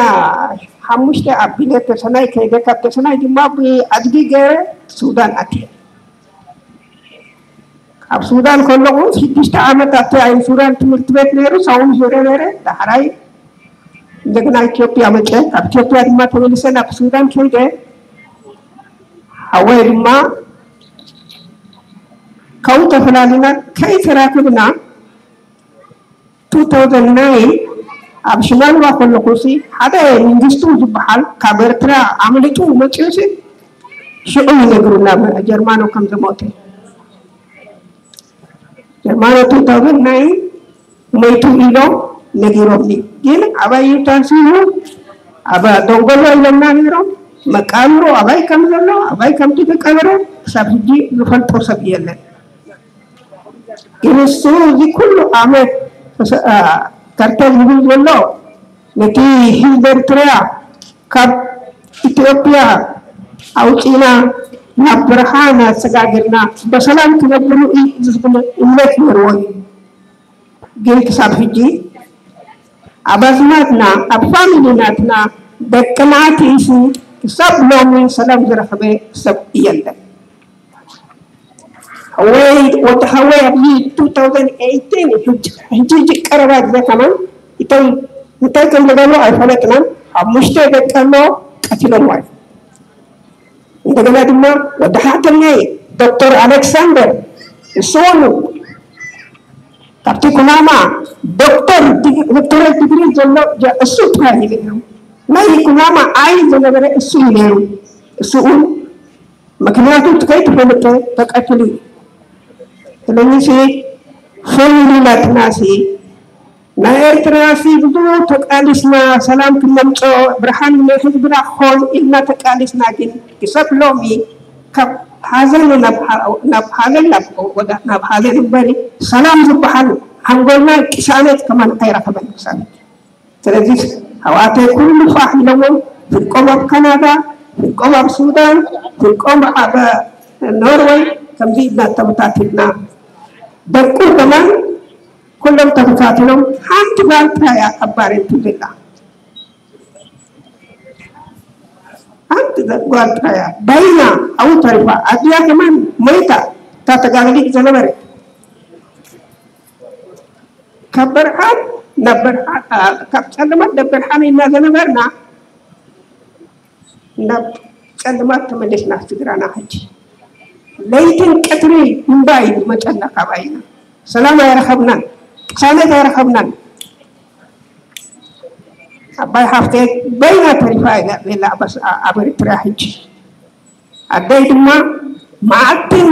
ሓሙሽተ ኣቢለ ተሰናይ ከይደ ካብ ተሰናይ ድማ ብኣድጊ ገይረ ሱዳን ኣትየ ኣብ ሱዳን ከለኹ ሽዱሽተ ዓመት ኣብቲ ኣይ ሱዳን ትምህርቲ ቤት ነይሩ ሰው ምሂረ ነይረ ዳሕራይ እንደገና ኢትዮጵያ መፀ ካብ ኢትዮጵያ ድማ ተመልሰ ናብ ሱዳን ከይደ ሓወይ ድማ ካብኡ ተፈላሊና ከይተራክብና two thousand nine ኣብ ሽማልባ ከለኹ ሲ ሓደ መንግስቱ ዝበሃል ካብ ኤርትራ ኣምልጡ መፂኡ ሲ ሽዑ ይነግሩና ጀርማኖ ከም ዝሞተ ጀርማኖ two thousand nine ሞይቱ ኢሎም ነጊሮምኒ ግን ኣባይ እዩ ታሲሩ ኣብ ደንጎሎ ኢሎምና ነይሮም መቃብሩ ኣባይ ከም ዘሎ ኣባይ ከም ዝተቀበረ ክሳብ ሕጂ ዝፈልጦ ሰብ የለን ግን እሱ እዚ ኩሉ ዓመት ከርተል ዝብል ዘሎ ነቲ ህዝቢ ኤርትራ ካብ ኢትዮጵያ ኣውፂና ናብ ብርሃን ኣሰጋግርና በሰላም ክነብሩ ዝብል እምነት ነርዎ እዩ ግን ክሳብ ሕጂ ኣብ ኣዝማድና ኣብ ፋሚሊ ናትና ደቅና ትኢሱ ክሳብ ሎሚ ሰላም ዝረኸበ ሰብ የለን ወይ ወዲ ሓወይ ኣብዚ two thousand eighteen ሕጂ ሕጂ ቀረባ ግዜ ከማን እቶም እንታይ ከም ዝገብሩ ኣይፈለጥናን። ሓሙሽተ ደቂ ኣሎ ቀቲሎምዎ እዮም። እንደገና ድማ ወዲ ሓተኛይ ዶክተር ኣሌክሳንደር እሱ እውን ካብቲ ኩናማ ዶክተር ዶክተሬት ዲግሪ ዘሎ እሱ ጥራይ እዩ ነይሩ። ናይ ኩናማ ዓይን ዝነበረ እሱ እዩ ነይሩ። እሱ እውን ምክንያቱ ከይትፈልጠ ተቀትሉ እዩ። ስለዚህ ሲ ፈይሉ ናትናሲ ናይ ኤርትራሲ ብዙ ተቃሊስና ሰላም ክነምጾ ብርሃን ንህዝብና ክኾን ኢልና ተቃሊስና ግን ክሰብ ሎሚ ካብ ሓዘን ናብ ሓዘን ናብ ሓዘን እምበሪ ሰላም ዝበሃል ሓንጎልና ቅሳነት ከማን ኣይረኸበን ክሳብ ስለዚህ ኣሕዋተይ ኩሉ ፋሕ ኢሎሞ ፍልቆም ኣብ ካናዳ ፍልቆም ኣብ ሱዳን ፍልቆም ኣብ ኖርወይ ከምዚ ኢልና ተበታቲልና ደቁ ከማን ኩሎም ተበታቲኖም ሓንቲ ጓል ጥራይ እያ ኣብ ባሬንቱ ዘላ ሓንቲ ጓል ጥራይ እያ ባይና ኣብኡ ተሪፋ ኣድያ ከማን ሞይታ እታ ተጋግሊት ዝነበረት ካብ ብርሃን ናብ ብርሃን ካብ ፀልማት ናብ ብርሃን ኢና ዝነበርና ናብ ፀልማት ተመለስና ስድራና ሕጂ ለይትን ቀትሪ እምባ እዩ ዝመፀና ካባይና ሰላም ኣይረኸብናን ቅሳነት ኣይረኸብናን ኣባይ ሓፍተ በይና ተሪፋ እያ ዘላ ኣብ ኤርትራ ሕጂ ኣደይ ድማ መዓልትን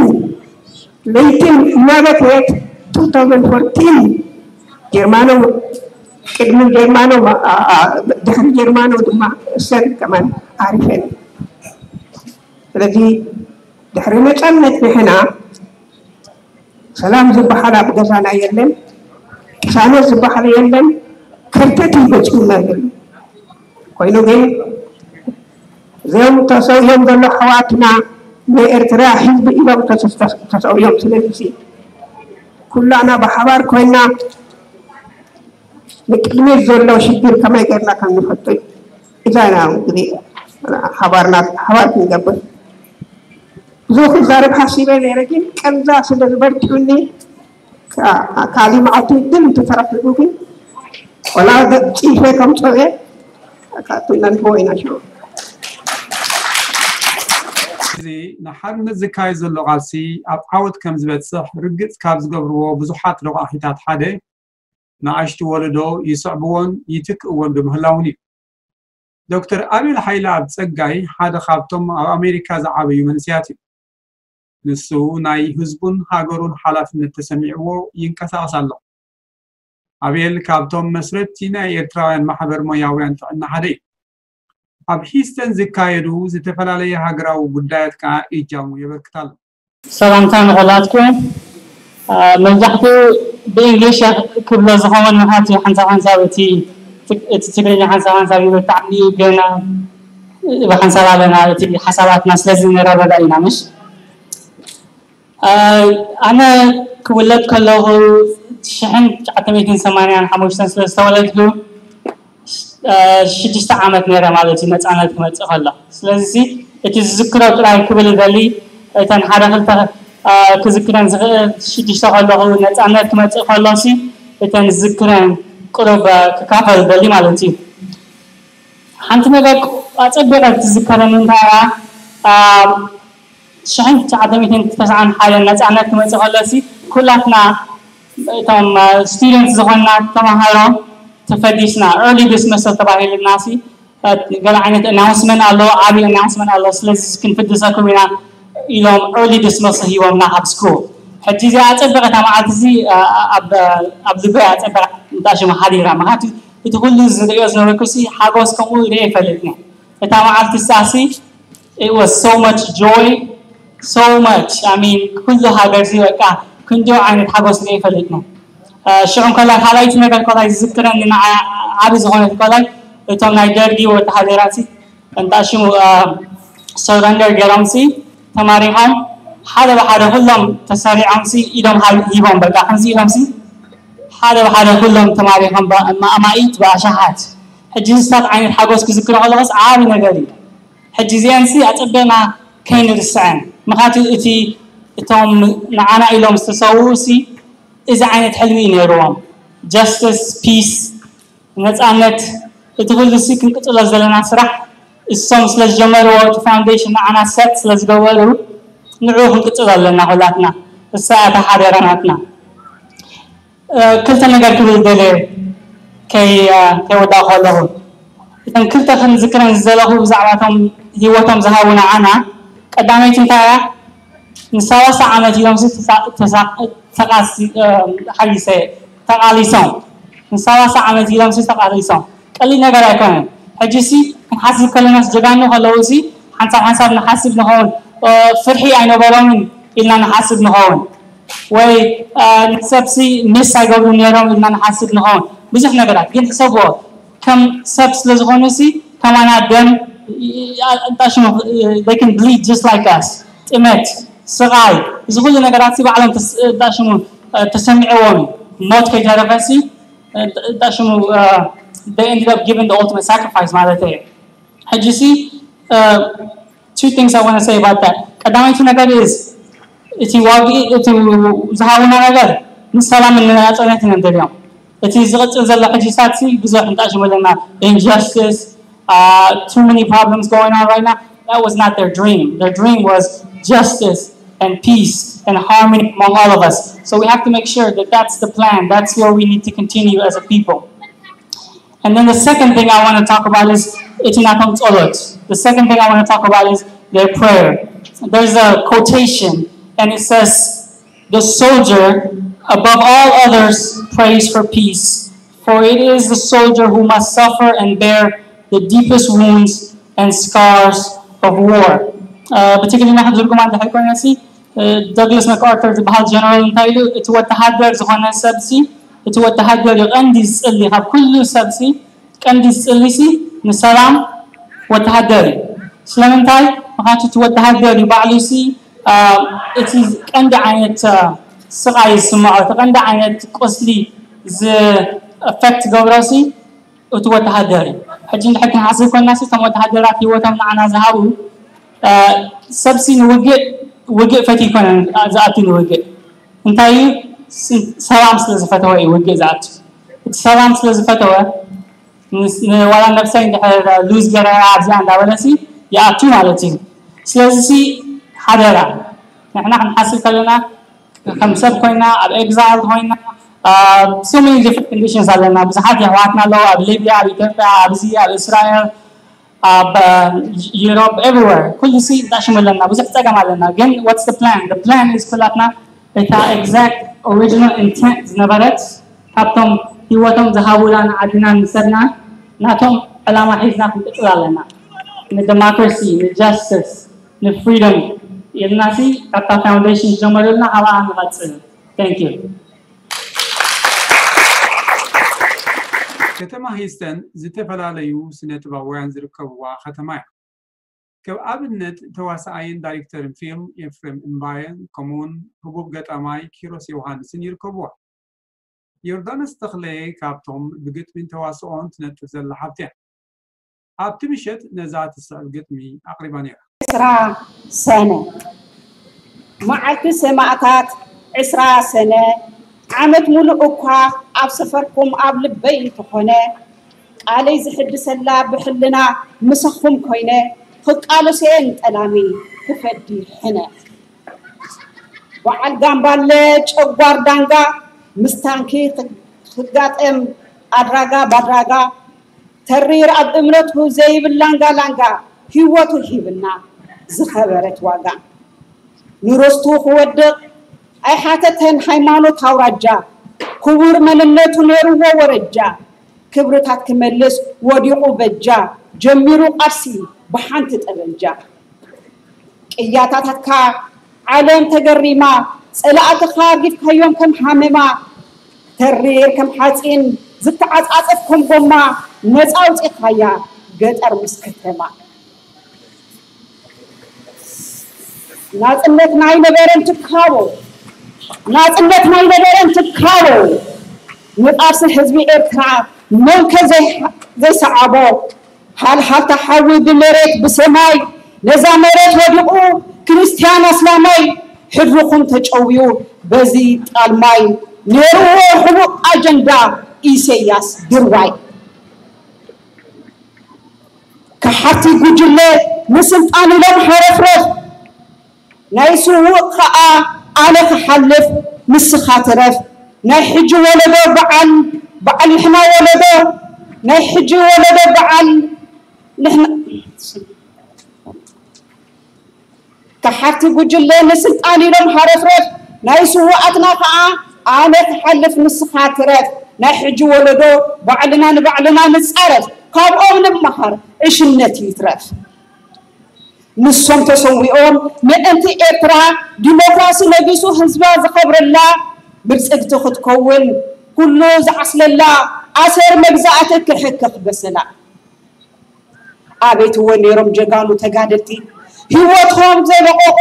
ለይትን እናበከየት two thousand fourteen ጀርማኖ ቅድሚ ጀርማኖ ድሕሪ ጀርማኖ ድማ እሰን ከማን ዓሪፈን ስለዚ ድሕሪ ነፃነት ንሕና ሰላም ዝበሃል ኣብ ገዛና የለን ቅሳነት ዝበሃል የለን ከርተት ይገፅና የለን ኮይኑ ግን እዚኦም ተሰውዮም ዘሎ ኣሕዋትና ናይ ኤርትራ ህዝቢ ኢሎም ተሰውዮም ስለዚ ኩላና ብሓባር ኮይና ንቅድሚት ዘሎ ሽግር ከመይ ገርና ከም ንፈቱ እዛ ኢና እንግዲህ ሓባርና ሓባር ክንገብር ብዙ ክዛረብ ሓሲበ ነይረ ግን ቀንዛ ስለ ዝበርትዑኒ ካሊ መዓልቲ ግን እንተተረኪቡ ግን ቆላ ገፂፈ ከምፀኤ ኣካትነን ኮይና ሽሮ እዚ ንሓርነት ዝካየድ ዘሎ ቃልሲ ኣብ ዓወት ከም ዝበፅሕ ርግፅ ካብ ዝገብርዎ ብዙሓት ረቋሒታት ሓደ ንኣሽቱ ወለዶ ይስዕብዎን ይትክእዎን ብምህላውን እዩ። ዶክተር ኣቤል ሓይለኣብ ጸጋይ ሓደ ካብቶም ኣብ ኣሜሪካ ዝዓበዩ መንእሰያት እዩ። ንሱ ናይ ህዝቡን ሃገሩን ሓላፍነት ተሰሚዕዎ ይንቀሳቐስ ኣሎ። ኣቤል ካብቶም መስረትቲ ናይ ኤርትራውያን ማሕበር ሞያውያን ጥዕና ሓደ እዩ። ኣብ ሂስተን ዝካየዱ ዝተፈላለየ ሃገራዊ ጉዳያት ከኣ እጃሙ የበርክት ኣሎ። ሰላምታ ንኹላትኩም። መብዛሕትኡ ብእንግሊሽ ክብሎ ዝኸውን ምኽንያቱ ሓንሳብ ሓንሳብ እቲ እቲ ትግርኛ ሓንሳብ ሓንሳብ ይበታዕኒ ገና ብሓንሳብ ኣለና እቲ ሓሳባትና ስለዚ ንረዳዳ ኢና ምሽ ኣነ ክውለድ ከለኹ ሽሕን ትሽዓተ ሚእትን ሰማንያን ሓሙሽተን ስለ ዝተወለድኩ ሽዱሽተ ዓመት ነይረ ማለት እዩ ነፃነት ክመፅእ ከሎ ስለዚ እቲ ዝዝክሮ ጥራይ ክብል ይደሊ እተን ሓደ ክልተ ክዝክረን ዝኽእል ሽዱሽተ ከለኹ ነፃነት ክመፅእ ከሎ ሲ እተን ዝዝክረን ቁሩብ ክካፈል ይደሊ ማለት እዩ ሓንቲ ነገር ኣፀቢቐ ትዝከረኒ እንታይ እያ ሽሕን ትሽዓተ ሚእትን ተስዓን ሓደን ነፃነት ክመፅእ ከሎ ሲ ኩላትና እቶም students ዝኾንና ተምሃሮ ተፈዲስና early dismissal ተባሂሉና ሲ ገለ ዓይነት announcement ኣሎ ዓብዪ announcement ኣሎ ስለዚ ክንፍድሰኩም ኢና ኢሎም early dismissal ሂቦምና ካብ school ሕጂ እዚኣ ኣፀበቐ እታ መዓልቲ እዚ ኣብ ልበይ ኣፀበቐ እንታይ ሽሙ ሓዲራ ምክንያቱ እቲ ኩሉ ዝሪኦ ዝነበርኩ ሲ ሓጎስ ከምኡ ሪኦ ይፈልጥኒ እታ መዓልቲ ሳሲ it was so much joy so much I mean ኩሉ ሃገር ሲ በቃ ክንዲኡ ዓይነት ሓጎስ ሪኦ ይፈልጥኒ ሽዑ እንከላ ካልኣይቲ ነገር ከላይ ዝዝክረኒ ንዓ ዓቢ ዝኾነት ከላይ እቶም ናይ ደርጊ ወተሃደራት ሲ እንታይ ሽሙ surrender ገይሮም ሲ ተማሪኾም ሓደ ብሓደ ኩሎም ተሰሪዖም ሲ ኢዶም ሂቦም በቃ ከምዚ ኢሎም ሲ ሓደ ብሓደ ኩሎም ተማሪኾም ኣማኢት ብኣሻሓት ሕጂ ዝስታት ዓይነት ሓጎስ ክዝክሮ ከለኹስ ዓቢ ነገር እዩ ሕጂ እዚአን ሲ ኣጸበና ከይንርስዐን ምኻቱ እቲ እቶም ንዓና ኢሎም ዝተሰውኡ ሲ እዚ ዓይነት ሕልሚ እዩ ነይርዎም። ጀስቲስ፣ ፒስ፣ ነፃነት፣ እቲ ኩሉ ሲ ክንቅፅሎ ዘለና ስራሕ እሶም ስለ ዝጀመርዎ፣ እቲ ፋውንዴሽን ንዓና ሰት ስለ ዝገበሩ፣ ንዕኡ ክንቅፅሎ ኣለና ኩላትና። እሳ እታ ሓደራ ናትና። ክልተ ነገር ክብል ደለ ከይወዳእ ከለኹ፣ እተን ክልተ ክንዝክረን ዝደለኹ ብዛዕባቶም ህይወቶም ዝሃቡ ንዓና፣ ቀዳመይቲ እንታይ እያ? ንሰላሳ ዓመት ኢሎም ተቃሊሰ ተቃሊሶም ንሰላሳ ዓመት ኢሎም ተቃሊሶም ቀሊል ነገር ኣይኮነን። ሕጂ ሲ ክንሓስብ ከለናስ ጀጋኑ ከለዉ ሲ ሓንሳብ ሓንሳብ ንሓስብ ንኸውን። ፍርሒ ኣይነበሮምን ኢልና ንሓስብ ንኸውን። ወይ ንሰብሲ ምስ ኣይገብሩ ነይሮም ኢልና ንሓስብ ንኸውን። ብዙሕ ነገራት ግን ሕሰብዎ፣ ከም ሰብ ስለ ዝኾኑ ሲ ከማና ደም ሽሙ ብሊድ ጀስት ላይክ ኣስ። ጥመት፣ ስቓይ፣ እዚ ኩሉ ነገራት ሲ ባዕሎም ሽሙ ተሰሚዕዎም እዩ። ሞት ከይተረፈ ሲ ሽሙ they ended up giving the ultimate sacrifice ማለት እዩ። ሕጂ ሲ two things I want to say about that. ቀዳመይቲ ነገር is እቲ ዋጊ እቲ ዝሃቡና ነገር ንሰላም ንናፅነት ኢና ንደልዮም። እቲ ዝቕፅል ዘሎ ሕጂ ሳት ሲ ብዙሕ እንጣሽሙ ኣለና። Injustice, uh, too many problems going on right now. That was not their dream. Their dream was justice and peace and harmony among all of us. So we have to make sure that that's the plan. That's where we need to continue as a people. And then the second thing I want to talk about is it's not tzolot. The second thing I want to talk about is their prayer. There's a quotation, and it says, "The soldier, above all others, prays for peace, for it is the soldier who must suffer and bear the deepest wounds and scars of war." ብትግርኛ ክትዝርጉማ እንድሕር ኮይነ ሲ ዶግላስ መክኣርተር ዝበሃል ጀነራል እንታይ ኢሉ? እቲ ወተሃደር ዝኾነ ሰብሲ እቲ ወተሃደር እዩ ቀንዲ ዝፅሊ ካብ ኩሉ ሰብሲ ቀንዲ ዝፅሊሲ ንሰላም ወተሃደር እዩ። ስለምንታይ? ምክንያቱ እቲ ወተሃደር እዩ ባዕሉ ሲ እቲ ቀንዲ ዓይነት ስቓይ ዝስምዖ እቲ ቀንዲ ዓይነት ቁስሊ ዝእፈክት ገብሮ ሲ እቲ ወተሃደር እዩ። ሕጂ እንድሕር ክንሓስብ ኮንና ሲ እቶም ወተሃደራት ህይወቶም ንዓና ዝሃቡ ሰብሲ ንውግእ ውግእ ፈት ይኮነ ዝኣቱ ንውግእ እንታይ እዩ? ሰላም ስለ ዝፈተወ እዩ ውግእ ዝኣቱ። እቲ ሰላም ስለ ዝፈተወ ዋላ ነብሰይ እንድሕር ሉዝ ገረ ኣብዚኣ እንዳበለሲ ይኣቱ ማለት እዩ። ስለዚ ሓደራ ንሕና ክንሓስብ ከለና ከም ሰብ ኮይና ኣብ ኤግዛይል ኮይና so many different conditions ኣለና። ብዙሓት የሕዋትና ኣለዉ ኣብ ሊብያ፣ ኣብ ኢትዮጵያ፣ ኣብዚ ኣብ እስራኤል፣ ኣብ ዩሮፕ፣ everywhere ኩሉ ሲ እንዳሽሙ ኣለና። ብዙሕ ፀገም ኣለና። ግን what's the plan? The plan is ኩላትና እታ exact original intent ዝነበረት ካብቶም ህይወቶም ዝሃቡላ ንዓድና ንሰብና ናቶም ዕላማ ሒዝና ክንቅፅል ኣለና። ንደሞክራሲ፣ ንጃስቲስ፣ ንፍሪደም ኢልና ሲ ካብታ ፋውንዴሽን ዝጀመሩልና ኣብኣ ንቐፅል። Thank you። ከተማ ሂስተን ዝተፈላለዩ ስነ ጥበባውያን ዝርከብዋ ከተማ እያ። ከም ኣብነት ተዋሳኣይን ዳይሬክተርን ፊልም ኤፍሬም እምባየ ከምኡውን ህቡብ ገጣማይ ኪሮስ ዮሃንስን ይርከብዋ። ዮርዳኖስ ተኽለ ካብቶም ብግጥሚን ተዋስኦን ትነጥፍ ዘላ ሓብቲ እያ። ኣብቲ ምሸት ነዛ ትስዕብ ግጥሚ ኣቕሪባ ነይራ። ዕስራ ሰነ መዓልቲ ሰማእታት ዕስራ ሰነ ዓመት ሙሉእ እኳ ኣብ ሰፈርኩም ኣብ ልበይ እንተኾነ ቃለይ ዝሕድሰላ ብሕልና ምሳኹም ኮይነ ክቃለሶ እየ ንጠላሚ ክፈዲ ሕነ። በዓል ጋምባለ ጨጓር ዳንጋ ምስ ታንኪ ክጋጠም ኣድራጋ ባድራጋ ተሪር ኣብ እምነቱ ዘይብል ላንጋ ላንጋ ህይወቱ ሂብና ዝኸበረት ዋጋ ንርስቱ ክወድቕ ኣይሓተተን ሃይማኖት ኣውራጃ ክቡር መንነቱ ነይርዎ ወረጃ ክብርታት ክመልስ ወዲቑ በጃ ጀሚሩ ቃልሲ ብሓንቲ ጠበንጃ ቅያታታትካ ዓለም ተገሪማ ጸላእትኻ ኣርጊፍካዮም ከም ሃመማ ተሪር ከም ሓጺን ዝተዓጻጸፍ ከም ጎማ ነጻ ኣውጺእኻያ ገጠር ምስ ከተማ ናጽነት ናይ ነበረን ትካቦ ናጽነት ናይ ነበረን ትካቦ ንቃልሲ ህዝቢ ኤርትራ መንከ ዘይሰዓቦ ሃልሃልታ ሓዊ ብመሬት ብሰማይ ነዛ መሬት ወዲቑ ክርስትያን ኣስላማይ ሕድርኹም ተጨውዩ በዚ ጣልማይ፣ ነይርዎ ሕቡእ ኣጀንዳ ኢሰያስ ድርባይ። ከሓርቲ ጉጅለ ንስልጣን ኢሎም ሓረፍረፍ፣ ናይ ስዉእ ኸኣ ኣነ ክሓልፍ ንስኻ ትረፍ። ናይ ሕጂ ወለዶ በዓል፣ በዓል ንሕና ወለዶ፣ ናይ ሕጂ ወለዶ በዓል ንሕና። ከሓርቲ ጉጅለ ንስልጣን ኢሎም ሓረፍረፍ፣ ናይ ስዉኣትና ኸኣ ኣነ ክሓልፍ ንስኻ ትረፍ። ናይ ሕጂ ወለዶ ባዕልና ንባዕልና ንጻረፍ፣ ካብኦም ንመሃር፣ ዕሽነት ይትረፍ። ንሶም ተሰዊኦም ምእንቲ ኤርትራ ዲሞክራሲ ነጊሱ ህዝባ ዝኸብረላ ብልጽግቲ ክትከውን፣ ኩሉ ዝዓስለላ ኣሰር መግዛእቲ ክሕክኽ በሰላ። ኣቤት እወ ነይሮም ጀጋኑ ተጋደልቲ፣ ህይወቶም ዘይለቐቑ፣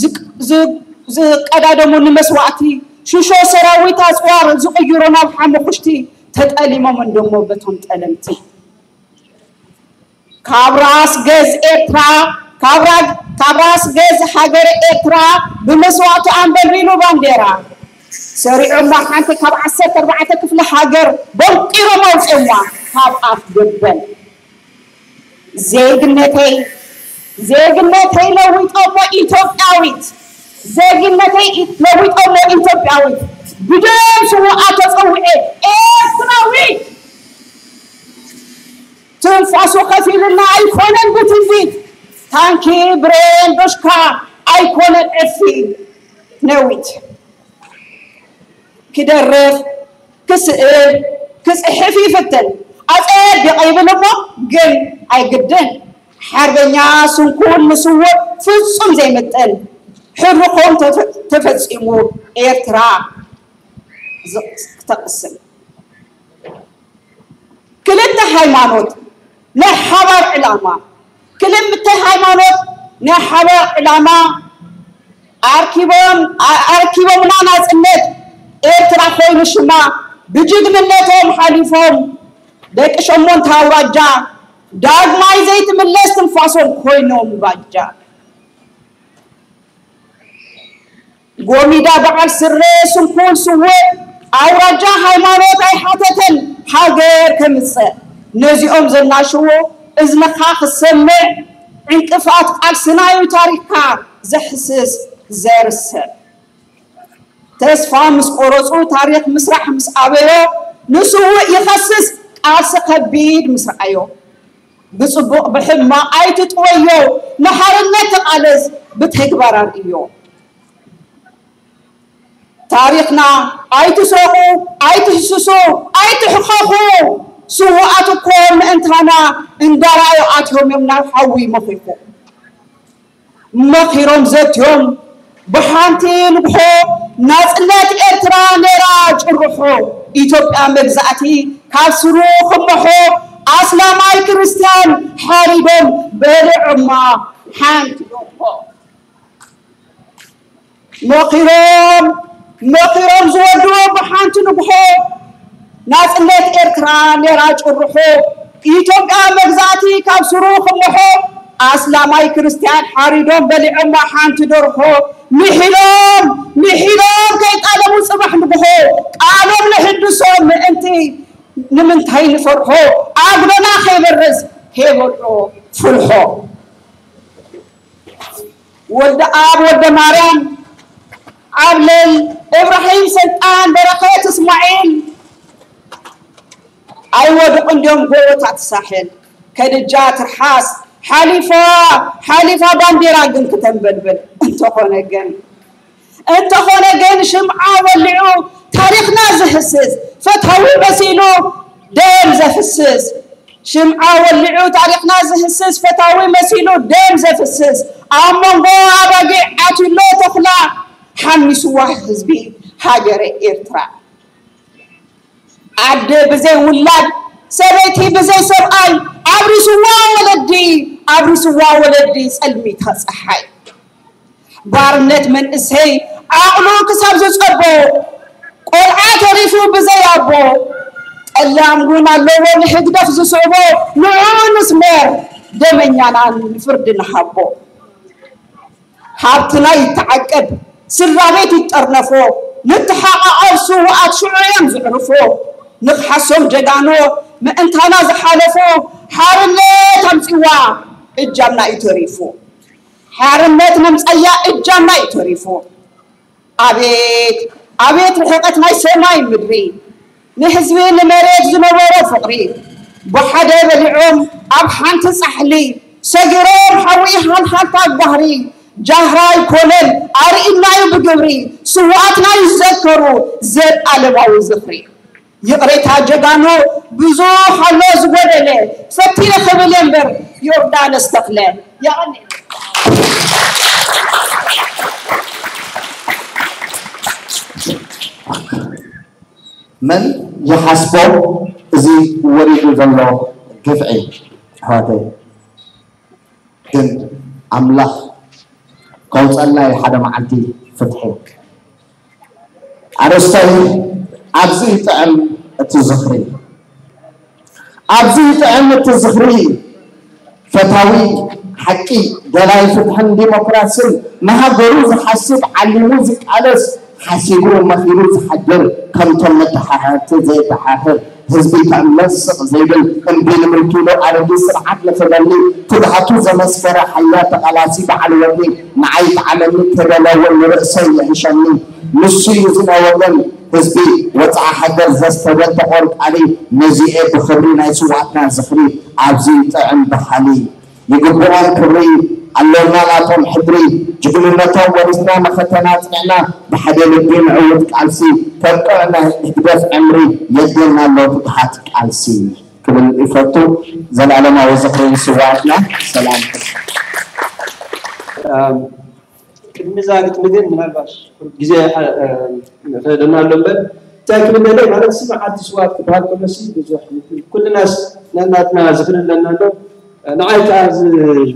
ዝቅ-፣ ዝ-፣ ዝቀዳደሙ ንመስዋእቲ፣ ሽሾ ሰራዊት ኣጽዋር ዝቕይሩ ናብ ሓሙኽሽቲ፣ ተጠሊሞም እንደሞ በቶም ጠለምቲ። ካብ ራስ ገዝ ኤርትራ፣ ካብ ራ-፣ ካብ ራስ ገዝ ሃገረ ኤርትራ ብመስዋእቱ ኣንበልቢሉ ባንዴራ ሰሪዖማ፣ ሓንቲ ካብ ዓሰርተ ኣርባዕተ ክፍለ ሃገር ቦንቂሮም ኣውፅኦማ ካብ ኣፍ ገበል። ዜግነተይ፣ ዜግነተይ ለዊጦሞ ኢትዮጵያዊት፣ ዜግነተይ ለዊጦሞ ኢትዮጵያዊት፣ ብደም ስውኣት ተፀውዐ ኤርትራዊት። ትንፋሱ ከፊሉና ኣይኮነን ብትንቢት፣ ታንኪ ብሬን ዶሽካ ኣይኮነን ዕፊ ነዊት። ክደርፍ፣ ክስእል፣ ክጽሕፍ ይፍትን። ኣጸቢቕ ይብል እሞ ግን ኣይግድን። ሓርበኛ ስንኩል ንስዉእ ፍጹም ዘይምጥን። ሕድርኹም ተፈ-፣ ተፈጺሙ ኤርትራ ዝ-፣ ክተቕስን። ክልተ ሃይማኖት ናይ ሓባር ዕላማ፣ ክልተ ሃይማኖት ናይ ሓባር ዕላማ ኣርኪቦም፣ ኣ-፣ ኣርኪቦምና ናጽነት ኤርትራ ኮይኑ ሽማ ብጅግንነቶም ሓሊፎም ደቂ ሸሞንተ ኣውራጃ ዳግማይ ዘይትምለስ ትንፋሶም ኮይኖም ባጃ። ጎሚዳ በዓል ስረ ስንኩል ስውእ ኣውራጃ ሃይማኖት ኣይሓተተን ሃገር ከምጽእ። ነዚኦም ዘናሽዎ እዝንኻ ክሰምዕ ዕንቅፋት ቃልስና እዩ ታሪኽካ ዘሕስስ ዘርስዕ። ተስፋ ምስ ቆረጹ ታሪኽ ምስራሕ ምስ ኣበዮ ንስውእ ይኸስስ ቃልሲ ከቢድ ምስ ረኣዮ። ብጽቡቕ ብሕማቕ ኣይትጥወዮ፣ ንሓርነት ተቓለስ ብተግባር ኣርእዮ። ታሪኽና ኣይትስረቑ፣ ኣይትህስሱ፣ ኣይትሕኸኹ። ስዉኣት እኮ ምእንታና እንዳረኣዩ ኣትዮም እዮም ናብ ሓዊ መኺኹ። መኺሮም ዘትዮም ብሓንቲ ንግሆ ናጽነት ኤርትራ ነይራ ጭርሖ። ኢትዮጵያ መግዛእቲ ካብ ስሩ ክመሖ ኣስላማይ ክርስትያን ሓሪዶም በሊዖማ ሓንቲ ደርሆ። መኺሮም መኺሮም ዝወድዎ ብሓንቲ ንግሆ ናጽነት ኤርትራ ነይራ ጭርሖ። ኢትዮጵያ መግዛእቲ ካብ ስሩ ክምሖ ኣስላማይ ክርስትያን ሓሪዶም በሊዖማ ሓንቲ ደርሆ። ምሒሎም ምሒሎም ከይጣለሙ ጽባሕ ንግሆ ቃሎም ንሕድሶም ምእንቲ ንምንታይ ንፈርሖ ኣጉዶና ከይበርስ ከይበልዖ ፍልሖ። ወልደ ኣብ ወልደ ማርያም ዓብለል እብራሂም ሰልጣን በረኸት እስማዒል ኣይወድቑ እንዲዮም ጎቦታት ሳሕል ከድጃ ትርሓስ ሓሊፋ ሓሊፋ ባንዴራ ግን ክተንበልብል እንተኾነ ግን እንተኾነ ግን ሽምዓ ወሊዑ ታሪኽና ዝህስስ ፈታዊ መሲሉ ደም ዘፍስስ ሽምዓ ወሊዑ ታሪኽና ዝህስስ ፈታዊ መሲሉ ደም ዘፍስስ ኣብ መንጎ ኣባጊዕ ዓትሎ ተኹላ ሓሚስዋ ህዝቢ ሃገረ ኤርትራ። ኣደ ብዘይ ውላድ ሰበይቲ ብዘይ ሰብኣይ ኣብሪስዋ ወለዲ ኣብሪስዋ ወለዲ ጸልሚታ ጸሓይ ባርነት መንእሰይ ዓቕሉ ክሳብ ዝጸቦ ቆልዓ ተሪፉ ብዘይ ኣቦ ጠላም እውን ኣለዎ ንህግደፍ ዝስዕቦ ንዑ ንስመር ደመኛና ንፍርዲ ንሃቦ። ሃብትና ይተዓቀብ ስድራ ቤት ይጠርነፎ፣ ንተሓቓቐፍ ስውኣት ሽዑ እዮም ዝዕርፎ። ንኽሓሶም ጀጋኑ ምእንታና ዝሓለፎ፣ ሓርነት ኣምጺዋ እጃምና እዩ ተሪፉ። ሓርነት መምጸያ እጃምና እዩ ተሪፉ። ኣቤት ኣቤት ርሕቀት ናይ ሰማይ ምድሪ፣ ንህዝቢ ንመሬት ዝነበሮ ፍቕሪ፣ ብሓደ በሊዖም ኣብ ሓንቲ ጻሕሊ ሰጊሮም ሓዊ ሃልሃልታ ባህሪ። ጃህራይ ኮለል ኣርእናዩ ብግብሪ፣ ስውኣትና ይዘከሩ ዘልኣለማዊ ዝኽሪ። ይቕሬታ ጀጋኑ ብዙሕ ኣሎ ዝጎደለ፣ ፈቲነ ክብል እየ እምበር ዮርዳኖስ ተኽለ። የቐንየለይ። መን ይሓስቦ እዚ ወሪዱ ዘሎ ግፍዒ ኣሕዋተይ? ግን ኣምላኽ ከውፀልና እዩ ሓደ መዓልቲ ፍትሒ። ኣርእስተይ ኣብዚ ይጥዕም እቲ ዝኽሪ፣ ኣብዚ ይጥዕም እቲ ዝኽሪ። ፈታዊ ሓቂ፣ ደላይ ፍትሕን ዲሞክራስን፣ ንሃገሩ ዝሓስብ፣ ዓሊሙ ዝቃለስ፣ ሓሲቡ መኺሩ ዝሓድር፣ ከምቶም መተሓሓርቲ ዘይተሓሕር፣ ህዝቢ ክዕመጽ ስቕ ዘይብል፣ እምቢ ንምልኪ ሉዓላዊ ስርዓት ንኽበሊ ትግሃቱ ዘመስከረ ሓያል ተቓላሲ በዓል ወኒ፣ ንዓይ ይጥዓመኒ ከይበለ እውን ንርእሰይ ይሕሸኒ። ንሱ እዩ እዚ ናይ ወገን ህዝቢ ወጽዓ ሃገር ዘስተበ ተቖርቋሪ። ነዚኤ ብኽብሪ ናይ ስውኣትና ዝኽሪ ኣብዚ ጥዕም በሃሊ። ይግብኦም ክብሪ ኣለና ናቶም ሕድሪ። ጅግንነቶም ወሪስና መኸተና ኣጽኒዕና ብሓደ ልቢ ንዕውት ቃልሲ። ከብቅዕ ናይ ህግደፍ ዕምሪ የድልና ኣሎ ትግሃት ቃልሲ። ክብል ይፈቱ። ዘላለማዊ ዝኽሪ ንስውኣትና። ሰላም። ቅድሚ እዛ ግጥሚ ግን ምናልባት ግዜ ይኸደና ኣሎ እምበር እንታይ ክብል ደለ ማለት ሲ መዓልቲ ስዋት ክበሃል ከሎሲ ብዙሕ ኩልናስ ነናትና ዝኽሪ ኣለና ኣሎ። ንዓይ ከዓ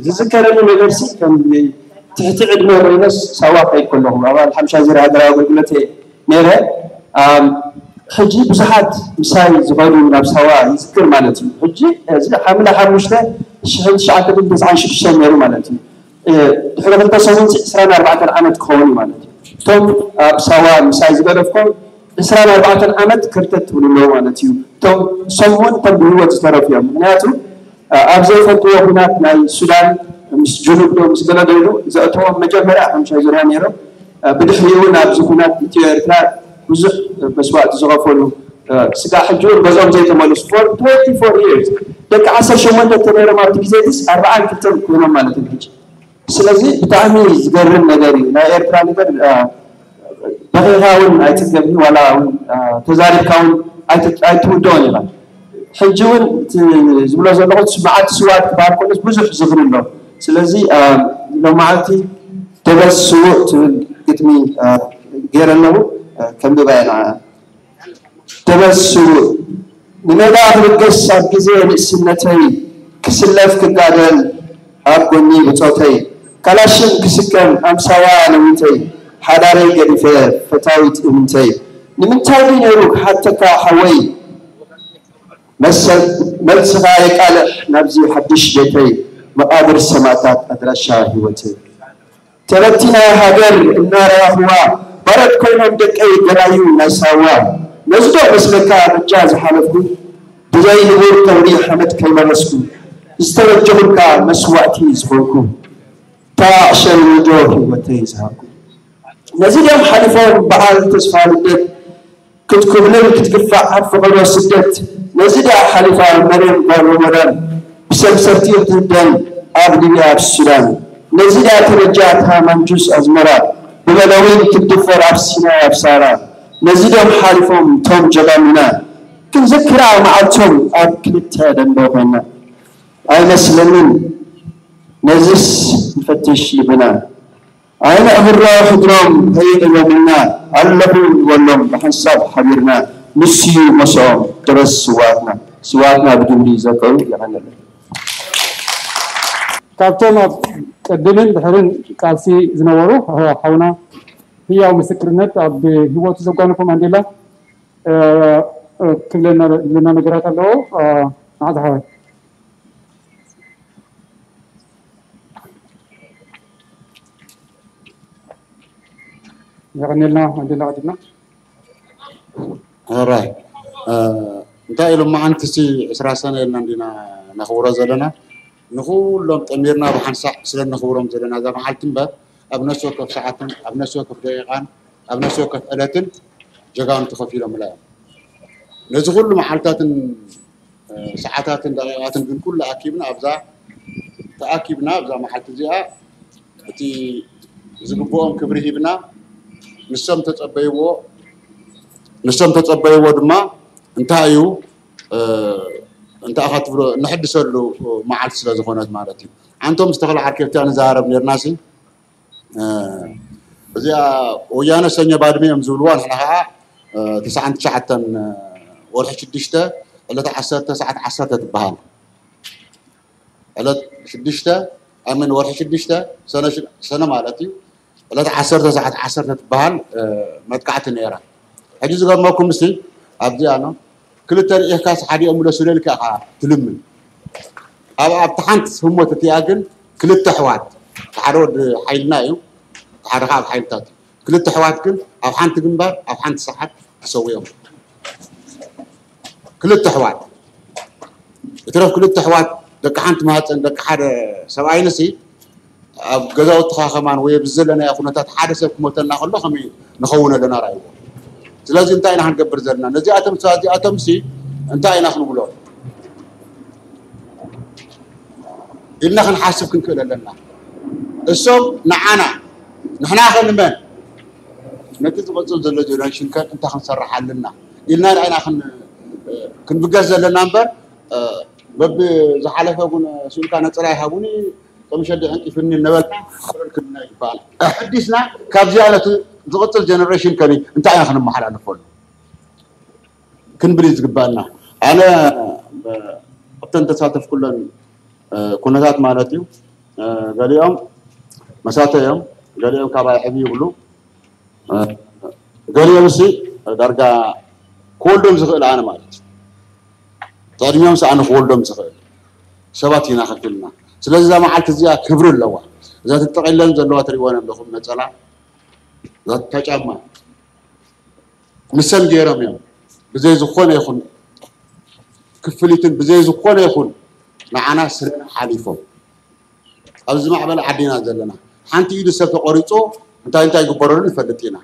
ዝዝከረኒ ነገርሲ ከም ትሕቲ ዕድመ ኮይነስ ሳዋ ከይድ ከለኹ ኣባል ሓምሻ ዙር ሃገራዊ ኣገልግሎት እየ ነይረ። ሕጂ ብዙሓት ምሳይ ዝኸዱ ናብ ሳዋ ይዝክር ማለት እዩ። ሕጂ እዚ ሓምለ ሓሙሽተ ሽሕን ትሽዓተ ሚእትን ተስዓን ሽዱሽተን ነይሩ ማለት እዩ። ድሕሪ ክልተ ሰሙን ዕስራን ኣርባዕተን ዓመት ክኸውን እዩ ማለት እዩ። እቶም ኣብ ሳዋ ምሳይ ዝገደፍኮም ዕስራን ኣርባዕተን ዓመት ክርተት ትብሉ ኣለዉ ማለት እዩ። እቶም ሰሙን ከም ብህይወት ዝተረፉ እዮም። ምክንያቱ ኣብ ዘይፈልጥዎ ኩናት ናይ ሱዳን ምስ ጅኑብ ዶ ምስ ገለ ዶ ኢሉ ዘእተዎም መጀመርያ ሓምሻይ ዙርያ ነይሮም። ብድሕሪኡ እውን ኣብዚ ኩናት ኢትዮ ኤርትራ ብዙሕ መስዋእቲ ዝኸፈሉ ስጋ ሕጂ እውን ገዝኦም ዘይተመለሱ for twenty four years ደቂ ዓሰርተ ሸሞንተ ተነይሮም ኣብቲ ግዜ ድስ ኣርባዓን ክልተን ኮይኖም ማለት እዩ ሕጂ። ስለዚ ብጣዕሚ ዝገርም ነገር እዩ ናይ ኤርትራ ነገር። በኺኻ እውን ኣይትፅገብን ዋላ እውን ተዛሪብካ እውን ኣይትውደኦን ኢኻ። ሕጂ እውን ዝብሎ ዘለኹ መዓልቲ ስውኣት ክበሃል ከሎስ ብዙሕ ዝኽሪ ኣሎ። ስለዚ ሎመዓልቲ ደበስ ስዉእ ትብል ግጥሚ ገይረ ኣለኹ። ከንብባ እየ ንዓ። ደበስ ስዉእ ንሜዳ ክብገስ ኣብ ግዜ ንእስነተይ ክስለፍ ክጋደል ኣብ ጎኒ ብጾተይ ካላሽን ክስከም ኣምሳያ ነዊተይ ሓዳረይ ገዲፈ ፈታዊት እምንተይ ንምንታይ ድዩ ነይሩ ክሓተካ ሓወይ መሰል መልስኻ የቃልሕ ናብዚ ሓድሽ ቤተይ መቓብር ሰማእታት ኣድራሻ ህይወተይ ተበቲና ሃገር እናረኣኽዋ ባሮት ኮይኖም ደቀይ ገላዩ ናይ ሳዋ ነዚ ዶ መስለካ በጃ ዝሓለፍኩ ብዘይ ንቡር ተምሪ ሓመድ ከይመለስኩ ዝተበጀኹልካ መስዋእቲ ዝኾንኩ እታ ዕሸል ወጆ ህይወተይ ዝሃብኩ ነዚ ድዮም ሓሊፎም በዓል ተስፋ ልደት ክትኩብልል ክትግፋዕ ኣብ ፈቐዶ ስደት ነዚ ድያ ሓሊፋ መርየም ጓል ሮመዳን ብሰምሰርቲ ክትህደን ኣብ ሊብያ ኣብ ሱዳን ነዚ ድያ ተበጃ እታ ማንጁስ ኣዝመራ ብበለዊን ክትድፈር ኣብ ሲናይ ኣብ ሳራ ነዚ ድዮም ሓሊፎም ቶም ጀጋኑና ክንዝክራ መዓልቶም ኣብ ክልተ ደንበ ኮይና ኣይመስለንን ነዝስ ንፈትሽ ልብና ኣይነዕብሮ ሕድሮም ከይቕየሙና ኣለኹ ንበሎም ብሓንሳብ ሓቢርና ንስዩ መስኦም ድረስ ስዋትና ስዋትና ብግብሪ ዘከሩ የቐንየለይ። ካብቶም ኣብ ቅድምን ድሕርን ቃልሲ ዝነበሩ ሓውና ህያው ምስክርነት ኣብ ህይወቱ ዘጓነፎ ማንዴላ ክብለና ዝብለና ነገራት ኣለዎ። መዓዝ ሓወይ? የቐኔልና ወንድና ቀዲምና። ሕራይ እንታይ ኢሎም መዓንቲ ሲ ዕስራ ሰነ ኢልና እንዲና ነኽብሮ ዘለና። ንኩሎም ጠሚርና ብሓንሳእ ስለ ነኽብሮም ዘለና እዛ መዓልቲ እምበር ኣብ ነፍሲ ወከፍ ሰዓትን ኣብ ነፍሲ ወከፍ ደቂቓን ኣብ ነፍሲ ወከፍ ዕለትን ጀጋኑ ተኸፊሎምላ እዮም። ነዚ ኩሉ መዓልታትን ሰዓታትን ደቂቓትን ግን ኩሉ ኣኪብና ኣብዛ ተኣኪብና ኣብዛ መዓልቲ እዚኣ እቲ ዝግብኦም ክብሪ ሂብና ንሶም ተጸበይዎ ንሶም ተጸበይዎ ድማ እንታይ እዩ እንታይ ኢኻ ትብሎ ነሕድሰሉ መዓልቲ ስለ ዝኾነት ማለት እዩ። ኣንቶም ዝተኽለ ዓርከብቲ ንዛረብ ነርና ሲ እዚኣ ወያነ ሰኞ ባድመ እዮም ዝብልዋ ንሕና ከዓ ተስዓን ትሽዓተን ወርሒ ሽዱሽተ ዕለት ዓሰርተ ሰዓት ዓሰርተ ትበሃል። ዕለት ሽዱሽተ ኣምን ወርሒ ሽዱሽተ ሰነ ማለት እዩ። ዕለት ዓሰርተ ሰዓት ዓሰርተ ትበሃል መጥቃዕቲ ነይራ። ሕጂ ዝገርመኩም ምስቲ ኣብዚኣ ነው ክልተ ርኢኻስ ሓዲኦም ምለሱለልካ ኢኻ ትልምን። ኣብ ኣብቲ ሓንቲ ህሞት እቲኣ ግን ክልተ ኣሕዋት ሓደ ወዲ ሓይልና እዩ ሓደ ከዓ ኣብ ሓይልታት እዩ። ክልተ ኣሕዋት ግን ኣብ ሓንቲ ግንባር ኣብ ሓንቲ ሰዓት ተሰዊኦም። ክልተ ኣሕዋት እትረፍ ክልተ ኣሕዋት ደቂ ሓንቲ ማህፀን ደቂ ሓደ ሰብኣይንሲ ኣብ ገዛውትኻ ከማን ወይ ኣብዚ ዘለናዮ ኩነታት ሓደ ሰብ ክሞተና ከሎ ከመይ ንኸውን ኣለና ራእይዎ። ስለዚ እንታይ ኢና ክንገብር ዘለና ነዚኣቶም እዚኣቶም ሲ እንታይ ኢና ክንብሎ ኢልና ክንሓስብ ክንክእል ኣለና። እሶም ንዓና ንሕና ከንመን ነቲ ዝቐፅል ዘሎ ጀነሬሽን ከ እንታይ ክንሰርሕ ኣለና ኢልና ኢና ክንብገስ ዘለና እምበር በብዝሓለፈ እውን ስኢልካ ነፀላ ይሃቡኒ ከም ሸዲ ዕንቂፍኒ እናበልና ክብረልክልና ይበሃል። ኣሕዲስና ካብዚኣ ነቲ ዝቕፅል ጀነሬሽን ከኒ እንታይ ኢና ክንመሓላለፈሉ ክንብል እዩ ዝግባኣና። ኣነ ኣብተን ተሳተፍኩለን ኩነታት ማለት እዩ ገሊኦም መሳተ እዮም፣ ገሊኦም ካባይ ዕብ ይብሉ፣ ገሊኦም ሲ ዳርጋ ክወልዶም ዝኽእል ኣነ ማለት እዩ። ተዕድሚኦም ሰኣነ ክወልዶም ዝኽእል ሰባት ኢና ከፊልና። ስለዚ እዛ መዓልቲ እዚኣ ክብሪ ኣለዋ። እዛ ተጠቒለን ዘለዋ ትሪእወን ኣለኹም ነፀላ እዛ ጫማ ንሰን ገይሮም እዮም ብዘይ ዝኾነ ይኹን ክፍሊትን ብዘይ ዝኾነ ይኹን ንዓና ስለ ሓሊፎም ኣብዚ ማዕበል ዓዲና ዘለና ሓንቲ ኢዱ ሰብ ተቆሪፁ እንታይ እንታይ ይግበረሉ ንፈልጥ ኢና።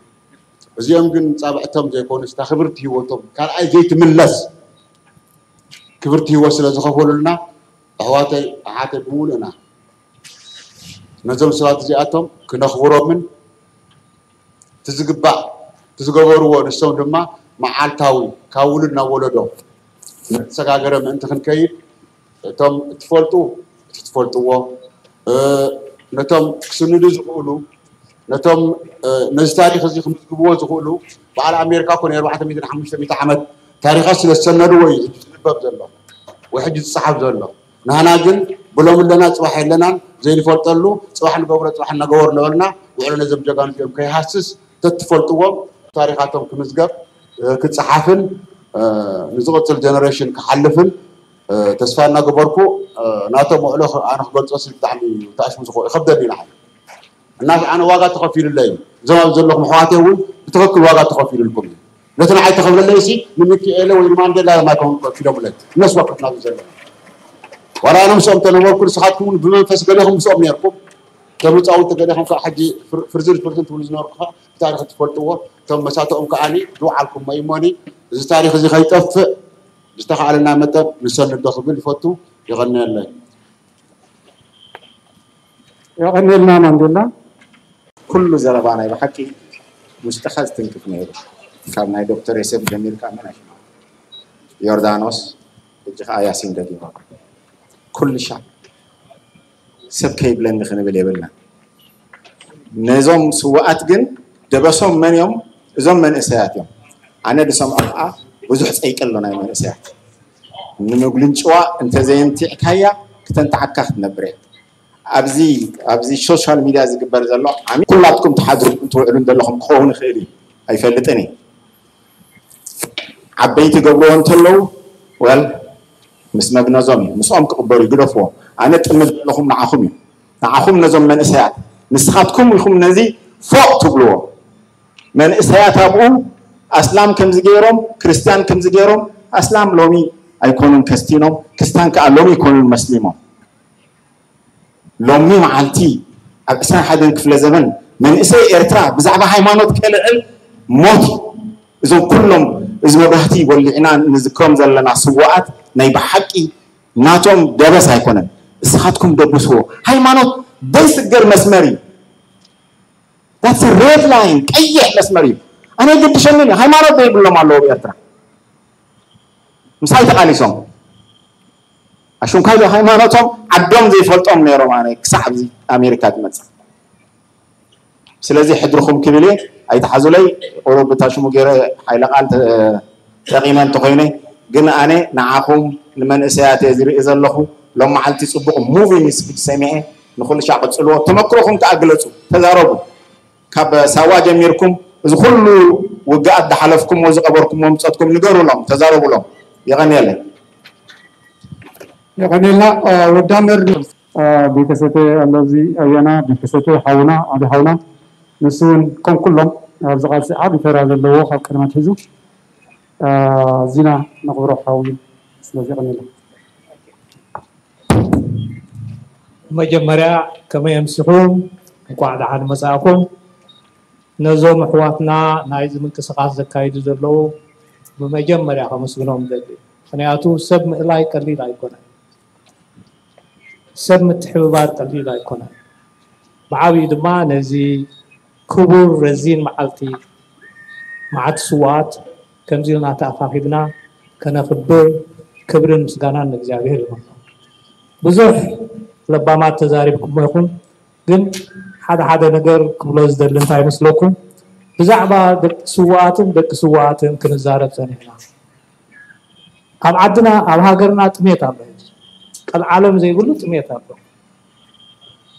እዚኦም ግን ፃብዕቶም ዘይኮኑስ እታ ክብርቲ ህይወቶም ካልኣይ ዘይትምለስ ክብርቲ ህይወት ስለ ዝኸፈሉልና ኣሕዋተይ ኣሓተይ ብምሉእና ነዞም ሰባት እዚኣቶም ክነኽብሮምን እቲ ዝግባእ እቲ ዝገበርዎ ንሶም ድማ መዓልታዊ ካብ ውሉድ ናብ ወለዶ እናተሰጋገረ ምእንቲ ክንከይድ እቶም እትፈልጡ እቲ ትፈልጥዎ ነቶም ክስንዱ ዝኽእሉ ነቶም ነዚ ታሪክ እዚ ክምዝግብዎ ዝኽእሉ በዓል ኣሜሪካ ኮነ ኣርባዕተ ሚእትን ሓሙሽተ ሚእቲ ዓመት ታሪኻት ስለ ዝሰነድዎ እዩ ዝንበብ ዘሎ ወይ ሕጂ ዝፀሓፍ ዘሎ። ንህና ግን ብሎም ኣለና ፅባሕ የለናን ዘይንፈልጠሉ ፅባሕ ንገብሮ ፅባሕ እናገበሩ ነበርና ውዕሎ ነዞም ጀጋኑ እዚኦም ከይሃስስ ተትፈልጥዎም ታሪኻቶም ክምዝገብ ክፀሓፍን ንዝቕፅል ጀነሬሽን ክሓልፍን ተስፋ እናገበርኩ ናቶም ውዕሎ ኣነ ክገልፆ ሲ ብጣዕሚ ተኣሽሙ ዝኾ ይኸብደኒ ንዓይ እና ኣነ ዋጋ ተኸፊሉለይ እዩ እዞም ኣብ ዘለኹም ኣሕዋተይ እውን ብትኽክል ዋጋ ተኸፊሉልኩም እዩ ነቲ ንዓይ ተኸፍለለይ ሲ ንሚኪኤለ ወይ ንማንዴላ ማይኮን ከፊሎምለይ እነሱ ወከፍና ዘሎ ዋላ ኣነ ምስኦም ተነበርኩ ንስኻትኩም እውን ብመንፈስ ገሌኹም ምስኦም ነርኩም ከም ህፃውንቲ ገሌኹም ከዓ ሕጂ ፍርዝን ፍርዝን ትብሉ ዝነበርኩ ከዓ ብታሪክ ትፈልጥዎ እቶም መሳትኦም ከዓ ዝወዓልኩሞ እዩሞኒ እዚ ታሪክ እዚ ከይጠፍእ ዝተኻኣለና መጠን ንሰንዶ ክብል ይፈቱ ይቐንየለይ የቐንየልና ማንዴላ ኩሉ ዘረባ ናይ ብሓቂ ውሽጥኻ ዝትንክፍ ነይሩ ካብ ናይ ዶክተር የሰፍ ጀሚርካ መን ዮርዳኖስ ሕጂ ከዓ ያሲን ደጊሞ ኩልሻ ሰብ ከይብለኒ ክንብል የብልና ነዞም ስዋኣት ግን ደበሶም መን እዮም እዞም መንእሰያት እዮም ኣነ ዝሰምዖ ከዓ ብዙሕ ፀይቂ ኣሎ ናይ መንእሰያት ንምጉልንጭዋ እንተዘየምቲዕካያ ክተንትዓካ ክትነብር እያ ኣብዚ ኣብዚ ሶሻል ሚድያ ዝግበር ዘሎ ዓሚ ኩላትኩም ትሓድሩ እንትውዕሉ ዘለኹም ክኸውን ይኽእል እዩ ኣይፈልጥን እዩ ዓበይቲ ገብርዎ እንተለዉ ወል ምስ መግነዞም እዩ ምስኦም ክቕበሩ ይግደፍዎ ኣነ ጥምር ዘለኹም ንዓኹም እዩ ንዓኹም ነዞም መንእሰያት ንስኻትኩም ኢኹም ነዚ ፎቕ ትብልዎ መንእሰያት ኣብኡ ኣስላም ከምዚ ገይሮም፣ ክርስትያን ከምዚ ገይሮም። ኣስላም ሎሚ ኣይኮኑን ከስቲኖም፣ ክርስትያን ከኣ ሎሚ ኣይኮኑን መስሊሞም። ሎሚ መዓልቲ ኣብ ዕስራን ሓደን ክፍለ ዘመን መንእሰይ ኤርትራ ብዛዕባ ሃይማኖት ከልዕል ሞት እዩ። እዞም ኩሎም እዚ መብራህቲ ወሊዕና ንዝክሮም ዘለና ስዋኣት ናይ ብሓቂ ናቶም ደበስ ኣይኮነን። እስኻትኩም ደብስዎ። ሃይማኖት ዘይስገር መስመር እዩ። That's a red line፣ ቀይሕ መስመር እዩ። ኣነ ግድሸኒ ሃይማኖት ዘይብሎም ኣለዉ ኣብ ኤርትራ። ምሳይ ተቓሊሶም ኣሹንካይ ዶ ሃይማኖቶም ዓዶም ዘይፈልጦም ነይሮም። ኣነ ክሳዕ ኣብዚ ኣሜሪካ ዝመፅእ ስለዚ ሕድርኹም ክብል እየ። ኣይትሓዙለይ። ቁሩብ እታ ሽሙ ገይረ ሓይለ ቃል ተጠቂመ እንተኮይነ ግን ኣነ ንዓኹም ንመንእሰያት እየ ዝርኢ ዘለኹ። ሎም መዓልቲ ፅቡቅ moving speech ሰሚዐ። ንኩሉ ሻዕ ቅፅልዎ። ተመክሮኹም ከዓ ግለፁ፣ ተዛረቡ። ካብ ሳዋ ጀሚርኩም እዚ ኩሉ ውግኣት ዝሓለፍኩምዎ ዝቀበርኩምዎ ምፀትኩም ንገሩሎም፣ ተዛረቡሎም። የቐንየለይ። የቐንየልና። ወዳመር ቤተሰተ ኣለዚ ኣያና ቤተሰተ ሓውና ዓቢ ሓውና ንሱ እውን ከም ኩሎም ኣብዚ ቃልሲ ዓቢ ተራ ዘለዎ ካብ ቀደም ኣትሒዙ ኣዚና ነኽብሮ ሓው እዩ። ስለዚ የቐንየልና። መጀመርያ ከመይ ኣምሲኹም? እንኳዕ ደሓን መጻእኩም። ነዞም ኣሕዋትና ናይዚ ምንቅስቃስ ዘካይዱ ዘለዉ ብመጀመርያ ከመስግኖም እደሊ። ምኽንያቱ ሰብ ምእላይ ቀሊል ኣይኮነን። ሰብ ምትሕብባር ቀሊል ኣይኮነን። ብዓብዩ ድማ ነዚ ክቡር ረዚን መዓልቲ መዓልቲ ስውኣት ከምዚ ኢልና ተኣኻኺብና ከነኽብር ክብርን ምስጋናን ንእግዚኣብሔር ይኹን። ብዙሕ ለባማት ተዛሪብኩሞ ኢኹም፣ ግን ሓደ ሓደ ነገር ክብሎ ዝደሊ እንታይ ይመስለኩም? ብዛዕባ ደቂ ስውኣትን ደቂ ስውኣትን ክንዛረብ ጸኒሕና። ኣብ ዓድና ኣብ ሃገርና ጥሜት ኣሎ። ሕጂ ቀልዓለም ዘይብሉ ጥሜት ኣሎ።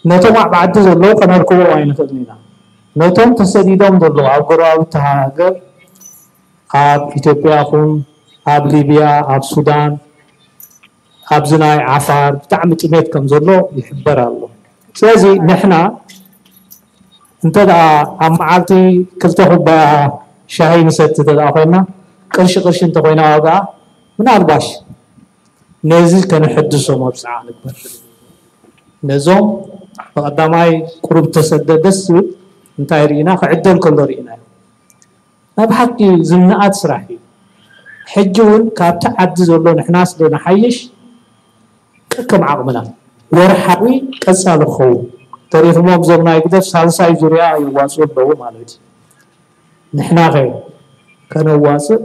ነቶም ኣብ ዓዲ ዘለዉ ከነርክቦም ኣይንኽእልን ኢና። ነቶም ተሰዲዶም ዘለዉ ኣብ ጎረባብቲ ሃገር ኣብ ኢትዮጵያ ይኹን ኣብ ሊብያ ኣብ ሱዳን ኣብዚ ናይ ዓፋር ብጣዕሚ ጥሜት ከም ዘሎ ይሕበር ኣሎ። ስለዚ ንሕና እንተ ደኣ ኣብ መዓልቲ ክልተ ኩባያ ሻሂ ንሰቲ እንተ ደኣ ኮይና ቅርሺ ቅርሺ እንተኮይና ዋጋኣ ምናልባሽ ነዚ ከነሐድሶ መብፅዓ ንግበር። ነዞም ብቐዳማይ ቁሩብ ተሰደ ደስ ዝብል እንታይ ርኢና ክዕደል ከሎ ርኢናዮ። ናይ ብሓቂ ዝነኣድ ስራሕ እዩ። ሕጂ እውን ካብቲ ዓዲ ዘሎ ንሕና ስለ ንሓይሽ ከከም ዓቕምና ወርሓዊ ቀፃሊ ክኸውን ተሪኽሞም እዞም ናይ ግደፍ ሳልሳይ ዙርያ የዋፅኡ ኣለዉ ማለት እዩ። ንሕናኸ ከነዋፅእ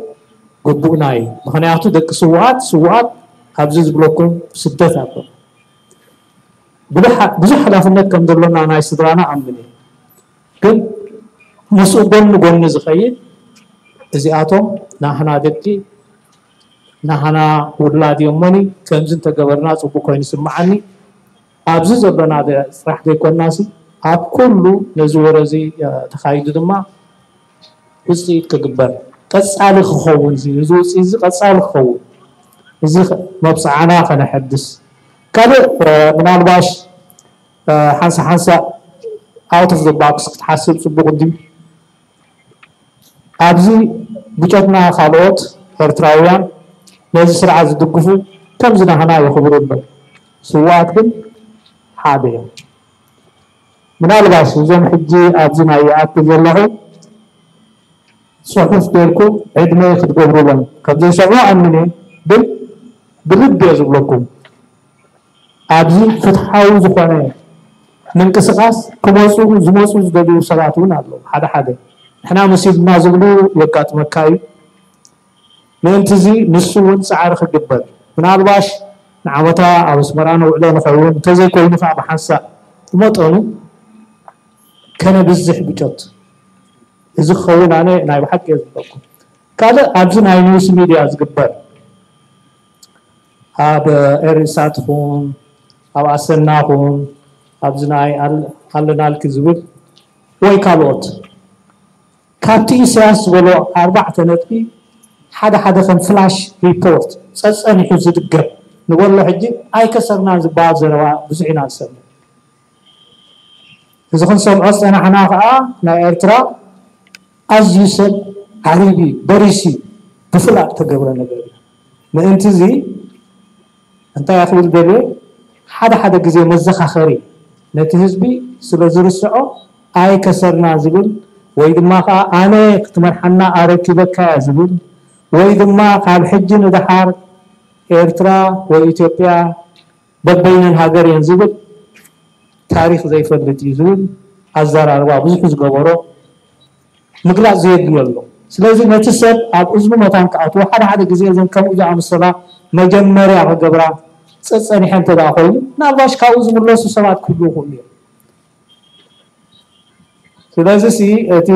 ግቡእና እዩ። ምኽንያቱ ደቂ ስውኣት ስውኣት ኣብዚ ዝብለኩም ስደት ኣሎ። ብዙሕ ሓላፍነት ከም ዘሎና ናይ ስድራና ኣምን እየ። ግን ምስኡ ጎኒ ጎኒ ዝኸይድ እዚኣቶም ናህና ደቂ ናህና ውላድ እዮሞኒ ከምዚ እንተገበርና ፅቡቅ ኮይኑ ይስምዓኒ። ኣብዚ ዘሎና ጥራሕ ዘይኮናሲ ኣብ ኩሉ ነዚ ወረ እዚ ተኻይዱ ድማ ውፅኢት ክግበር ቀፃሊ ክኸውን እዚ ውፅኢት እዚ ቀፃሊ ክኸውን እዚ መብፅዓና ከነሐድስ ካልእ ምናልባሽ ሓንሳ ሓንሳ out of the box ክትሓስብ ፅቡቅ እንድዩ። ኣብዚ ብጨትና ካልኦት ኤርትራውያን ነዚ ስርዓት ዝድግፉ ከምዚ ናህና የኽብሩ ኣለዉ። ስውኣት ግን ሓደ እዮም። ምናልባሽ እዞም ሕጂ ኣብዚ ናይ ይኣክል ዘለኹ ጽሑፍ ጌርኩም ዕድመ ክትገብሩሎም ከም ዘይሰምዑ ኣምን እየ። ግን ብልቢ እየ ዝብለኩም። ኣብዚ ፍትሓዊ ዝኾነ ምንቅስቃስ ክመፁ ዝመፁ ዝደልዩ ሰባት እውን ኣለዉ። ሓደ ሓደ ንሕና መሲሉና ዝብሉ የጋጥመካ እዩ። ምእንቲ እዚ ንሱ እውን ፃዕሪ ክግበር ምናልባሽ ንዓመታ ኣብ ኣስመራ ነውዕሎ ንኸውን እንተዘይኮይኑ ከዓ ብሓንሳእ ብመጠኑ ከነብዝሕ ብጮት እዚ ክኸውን ኣነ ናይ ብሓቂ እየ ዝብለኩም። ካልእ ኣብዚ ናይ ኒውስ ሚድያ ዝግበር ኣብ ኤሪሳት ኹን ኣብ ኣሰና ኹን ኣብዚ ናይ ኣለናልኪ ዝብል ወይ ካልኦት ካብቲ ኢሳያስ ዝበሎ ኣርባዕተ ነጥቢ ሓደ ሓደ ከም ፍላሽ ሪፖርት ጸጸኒሑ ዝድገም ንበሎ ሕጂ ኣይከሰርናን ዝበሃል ዘረባ ብዙሕ ኢና ንሰምዕ። እዚ ክንሰምዖ ዝጸናሕና ከዓ ናይ ኤርትራ ኣዝዩ ሰብ ዓሪቢ በሪሲ ብፍላጥ ተገብረ ነገር እዩ። ምእንቲ እዚ እንታይ ክብል ደልየ፣ ሓደ ሓደ ግዜ መዘኻኸሪ ነቲ ህዝቢ ስለ ዝርስዖ ኣይከሰርና ዝብል ወይ ድማ ከዓ ኣነ ክትመርሓና ኣረኪበካ እያ ዝብል ወይ ድማ ካብ ሕጂ ንደሓር ኤርትራ ወይ ኢትዮጵያ በበይነን ሃገር እየን ዝብል ታሪኽ ዘይፈልጥ እዩ ዝብል ኣዘራርባ ብዙሕ ዝገበሮ ምግላፅ ዘየድልዮ ኣሎ። ስለዚ ነቲ ሰብ ኣብ እዝኑ መታን ክኣትዎ ሓደ ሓደ ግዜ እዘን ከምኡ ዝኣመሰላ መጀመርያ ክገብራ ፀፀኒሐ እንተ ደኣ ኮይኑ ናልባሽ ካብኡ ዝምለሱ ሰባት ክህልዉ ይኽእሉ እዮም። ስለዚ ሲ እቲ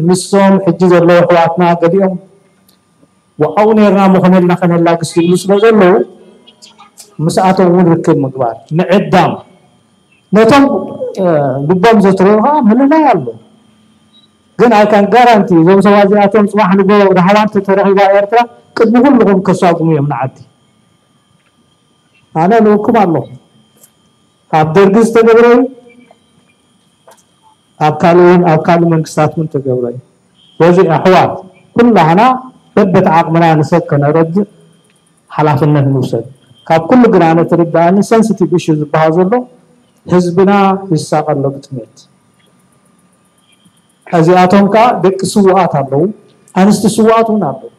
ምስዞም ሕጂ ዘለዉ ኣሕዋትና ገሊኦም ወዓው ነርና ምኾነልና ከነላግስ ዝብሉ ስለ ዘለዉ ምስኣቶም እውን ርክብ ምግባር ምዕዳም ነቶም ልቦም ዘትረሩ ከዓ ምልላይ ኣሎ። ግን I can guarantee እዞም ሰባት እዚኣቶም ፅባሕ ንጎ ራህዋ እንተተረኺባ ኤርትራ ቅድሚ ኩልኹም ከሳጉሙ እዮም ንዓዲ። ኣነ ንብኩም ኣለኹ። ኣብ ደርጊ ዝተገብረ እዩ፣ ኣብ ካልእ እውን ኣብ ካልእ መንግስታት እውን ተገብረ እዩ። በዚ ኣሕዋት ኩላህና በበት ዓቕምና ንሰብ ከነረድእ ሓላፍነት ንውሰድ። ካብ ኩሉ ግና ነቲ ርዳእኒ sensitive issue ዝበሃል ዘሎ ህዝብና ይሳቐ ኣሎ ብጥሜት። እዚኣቶም ከዓ ደቂ ስውኣት ኣለዉ፣ ኣንስቲ ስውኣት እውን ኣለዉ።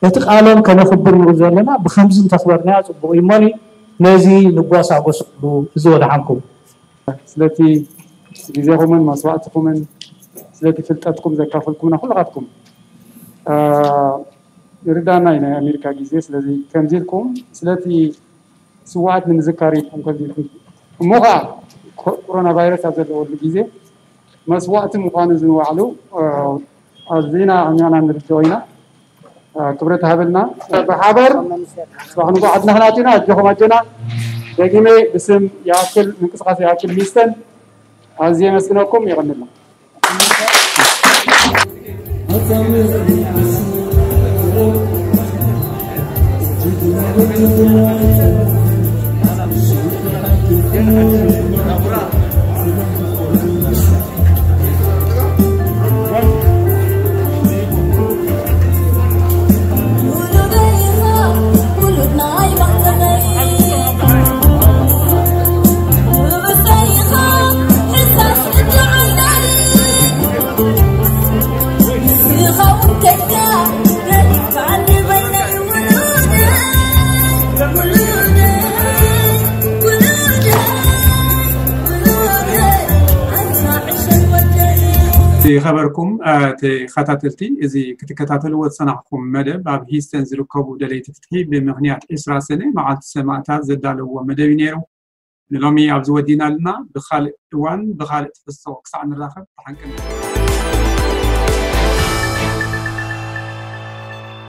እቲ ቃሎም ከነኽብር ንብል ዘለና ብከምዚ እንተኽበርናያ ፅቡቕ እዩ እሞኒ ነዚ ንጓሳጎሰሉ እዚ ወድሓንኩም። ስለቲ ግዜኹምን መስዋእትኩምን ስለቲ ፍልጠትኩም ዘካፈልኩምና ኩልኻትኩም ርዳና እዩ ናይ ኣሜሪካ ግዜ። ስለዚ ከምዚ ኢልኩም ስለቲ ስውኣት ንምዝካር ኢልኩም ከምዚ ኢልኩም እሞ ከዓ ኮሮና ቫይረስ ኣብ ዘለወሉ ግዜ መስዋእቲ ምዃኑ ዝንባዕሉ ኣዚና ኣኛና ንርድኦ ኢና። ክብረት ሃበልና። ብሓበር ጽባሕ ንግሆ ዓድና ክናትና ኣጆኹም ኣጆና። ደጊመ ብስም ይኣክል ምንቅስቃስ ይኣክል ሚስተን ኣዝየ የመስግነኩም። የቐንልና። ዝኸበርኩም ተኸታተልቲ፣ እዚ ክትከታተልዎ ዝጸናሕኩም መደብ ኣብ ሂስተን ዝርከቡ ደለይቲ ፍትሒ ብምኽንያት ዕስራ ሰነ መዓልቲ ሰማእታት ዘዳለውዎ መደብ እዩ ነይሩ። ንሎሚ ኣብዚ ወዲእና ኣለና። ብኻልእ እዋን ብኻልእ ትሕዝቶ ክሳዕ ንራኸብ ተሓንቀን።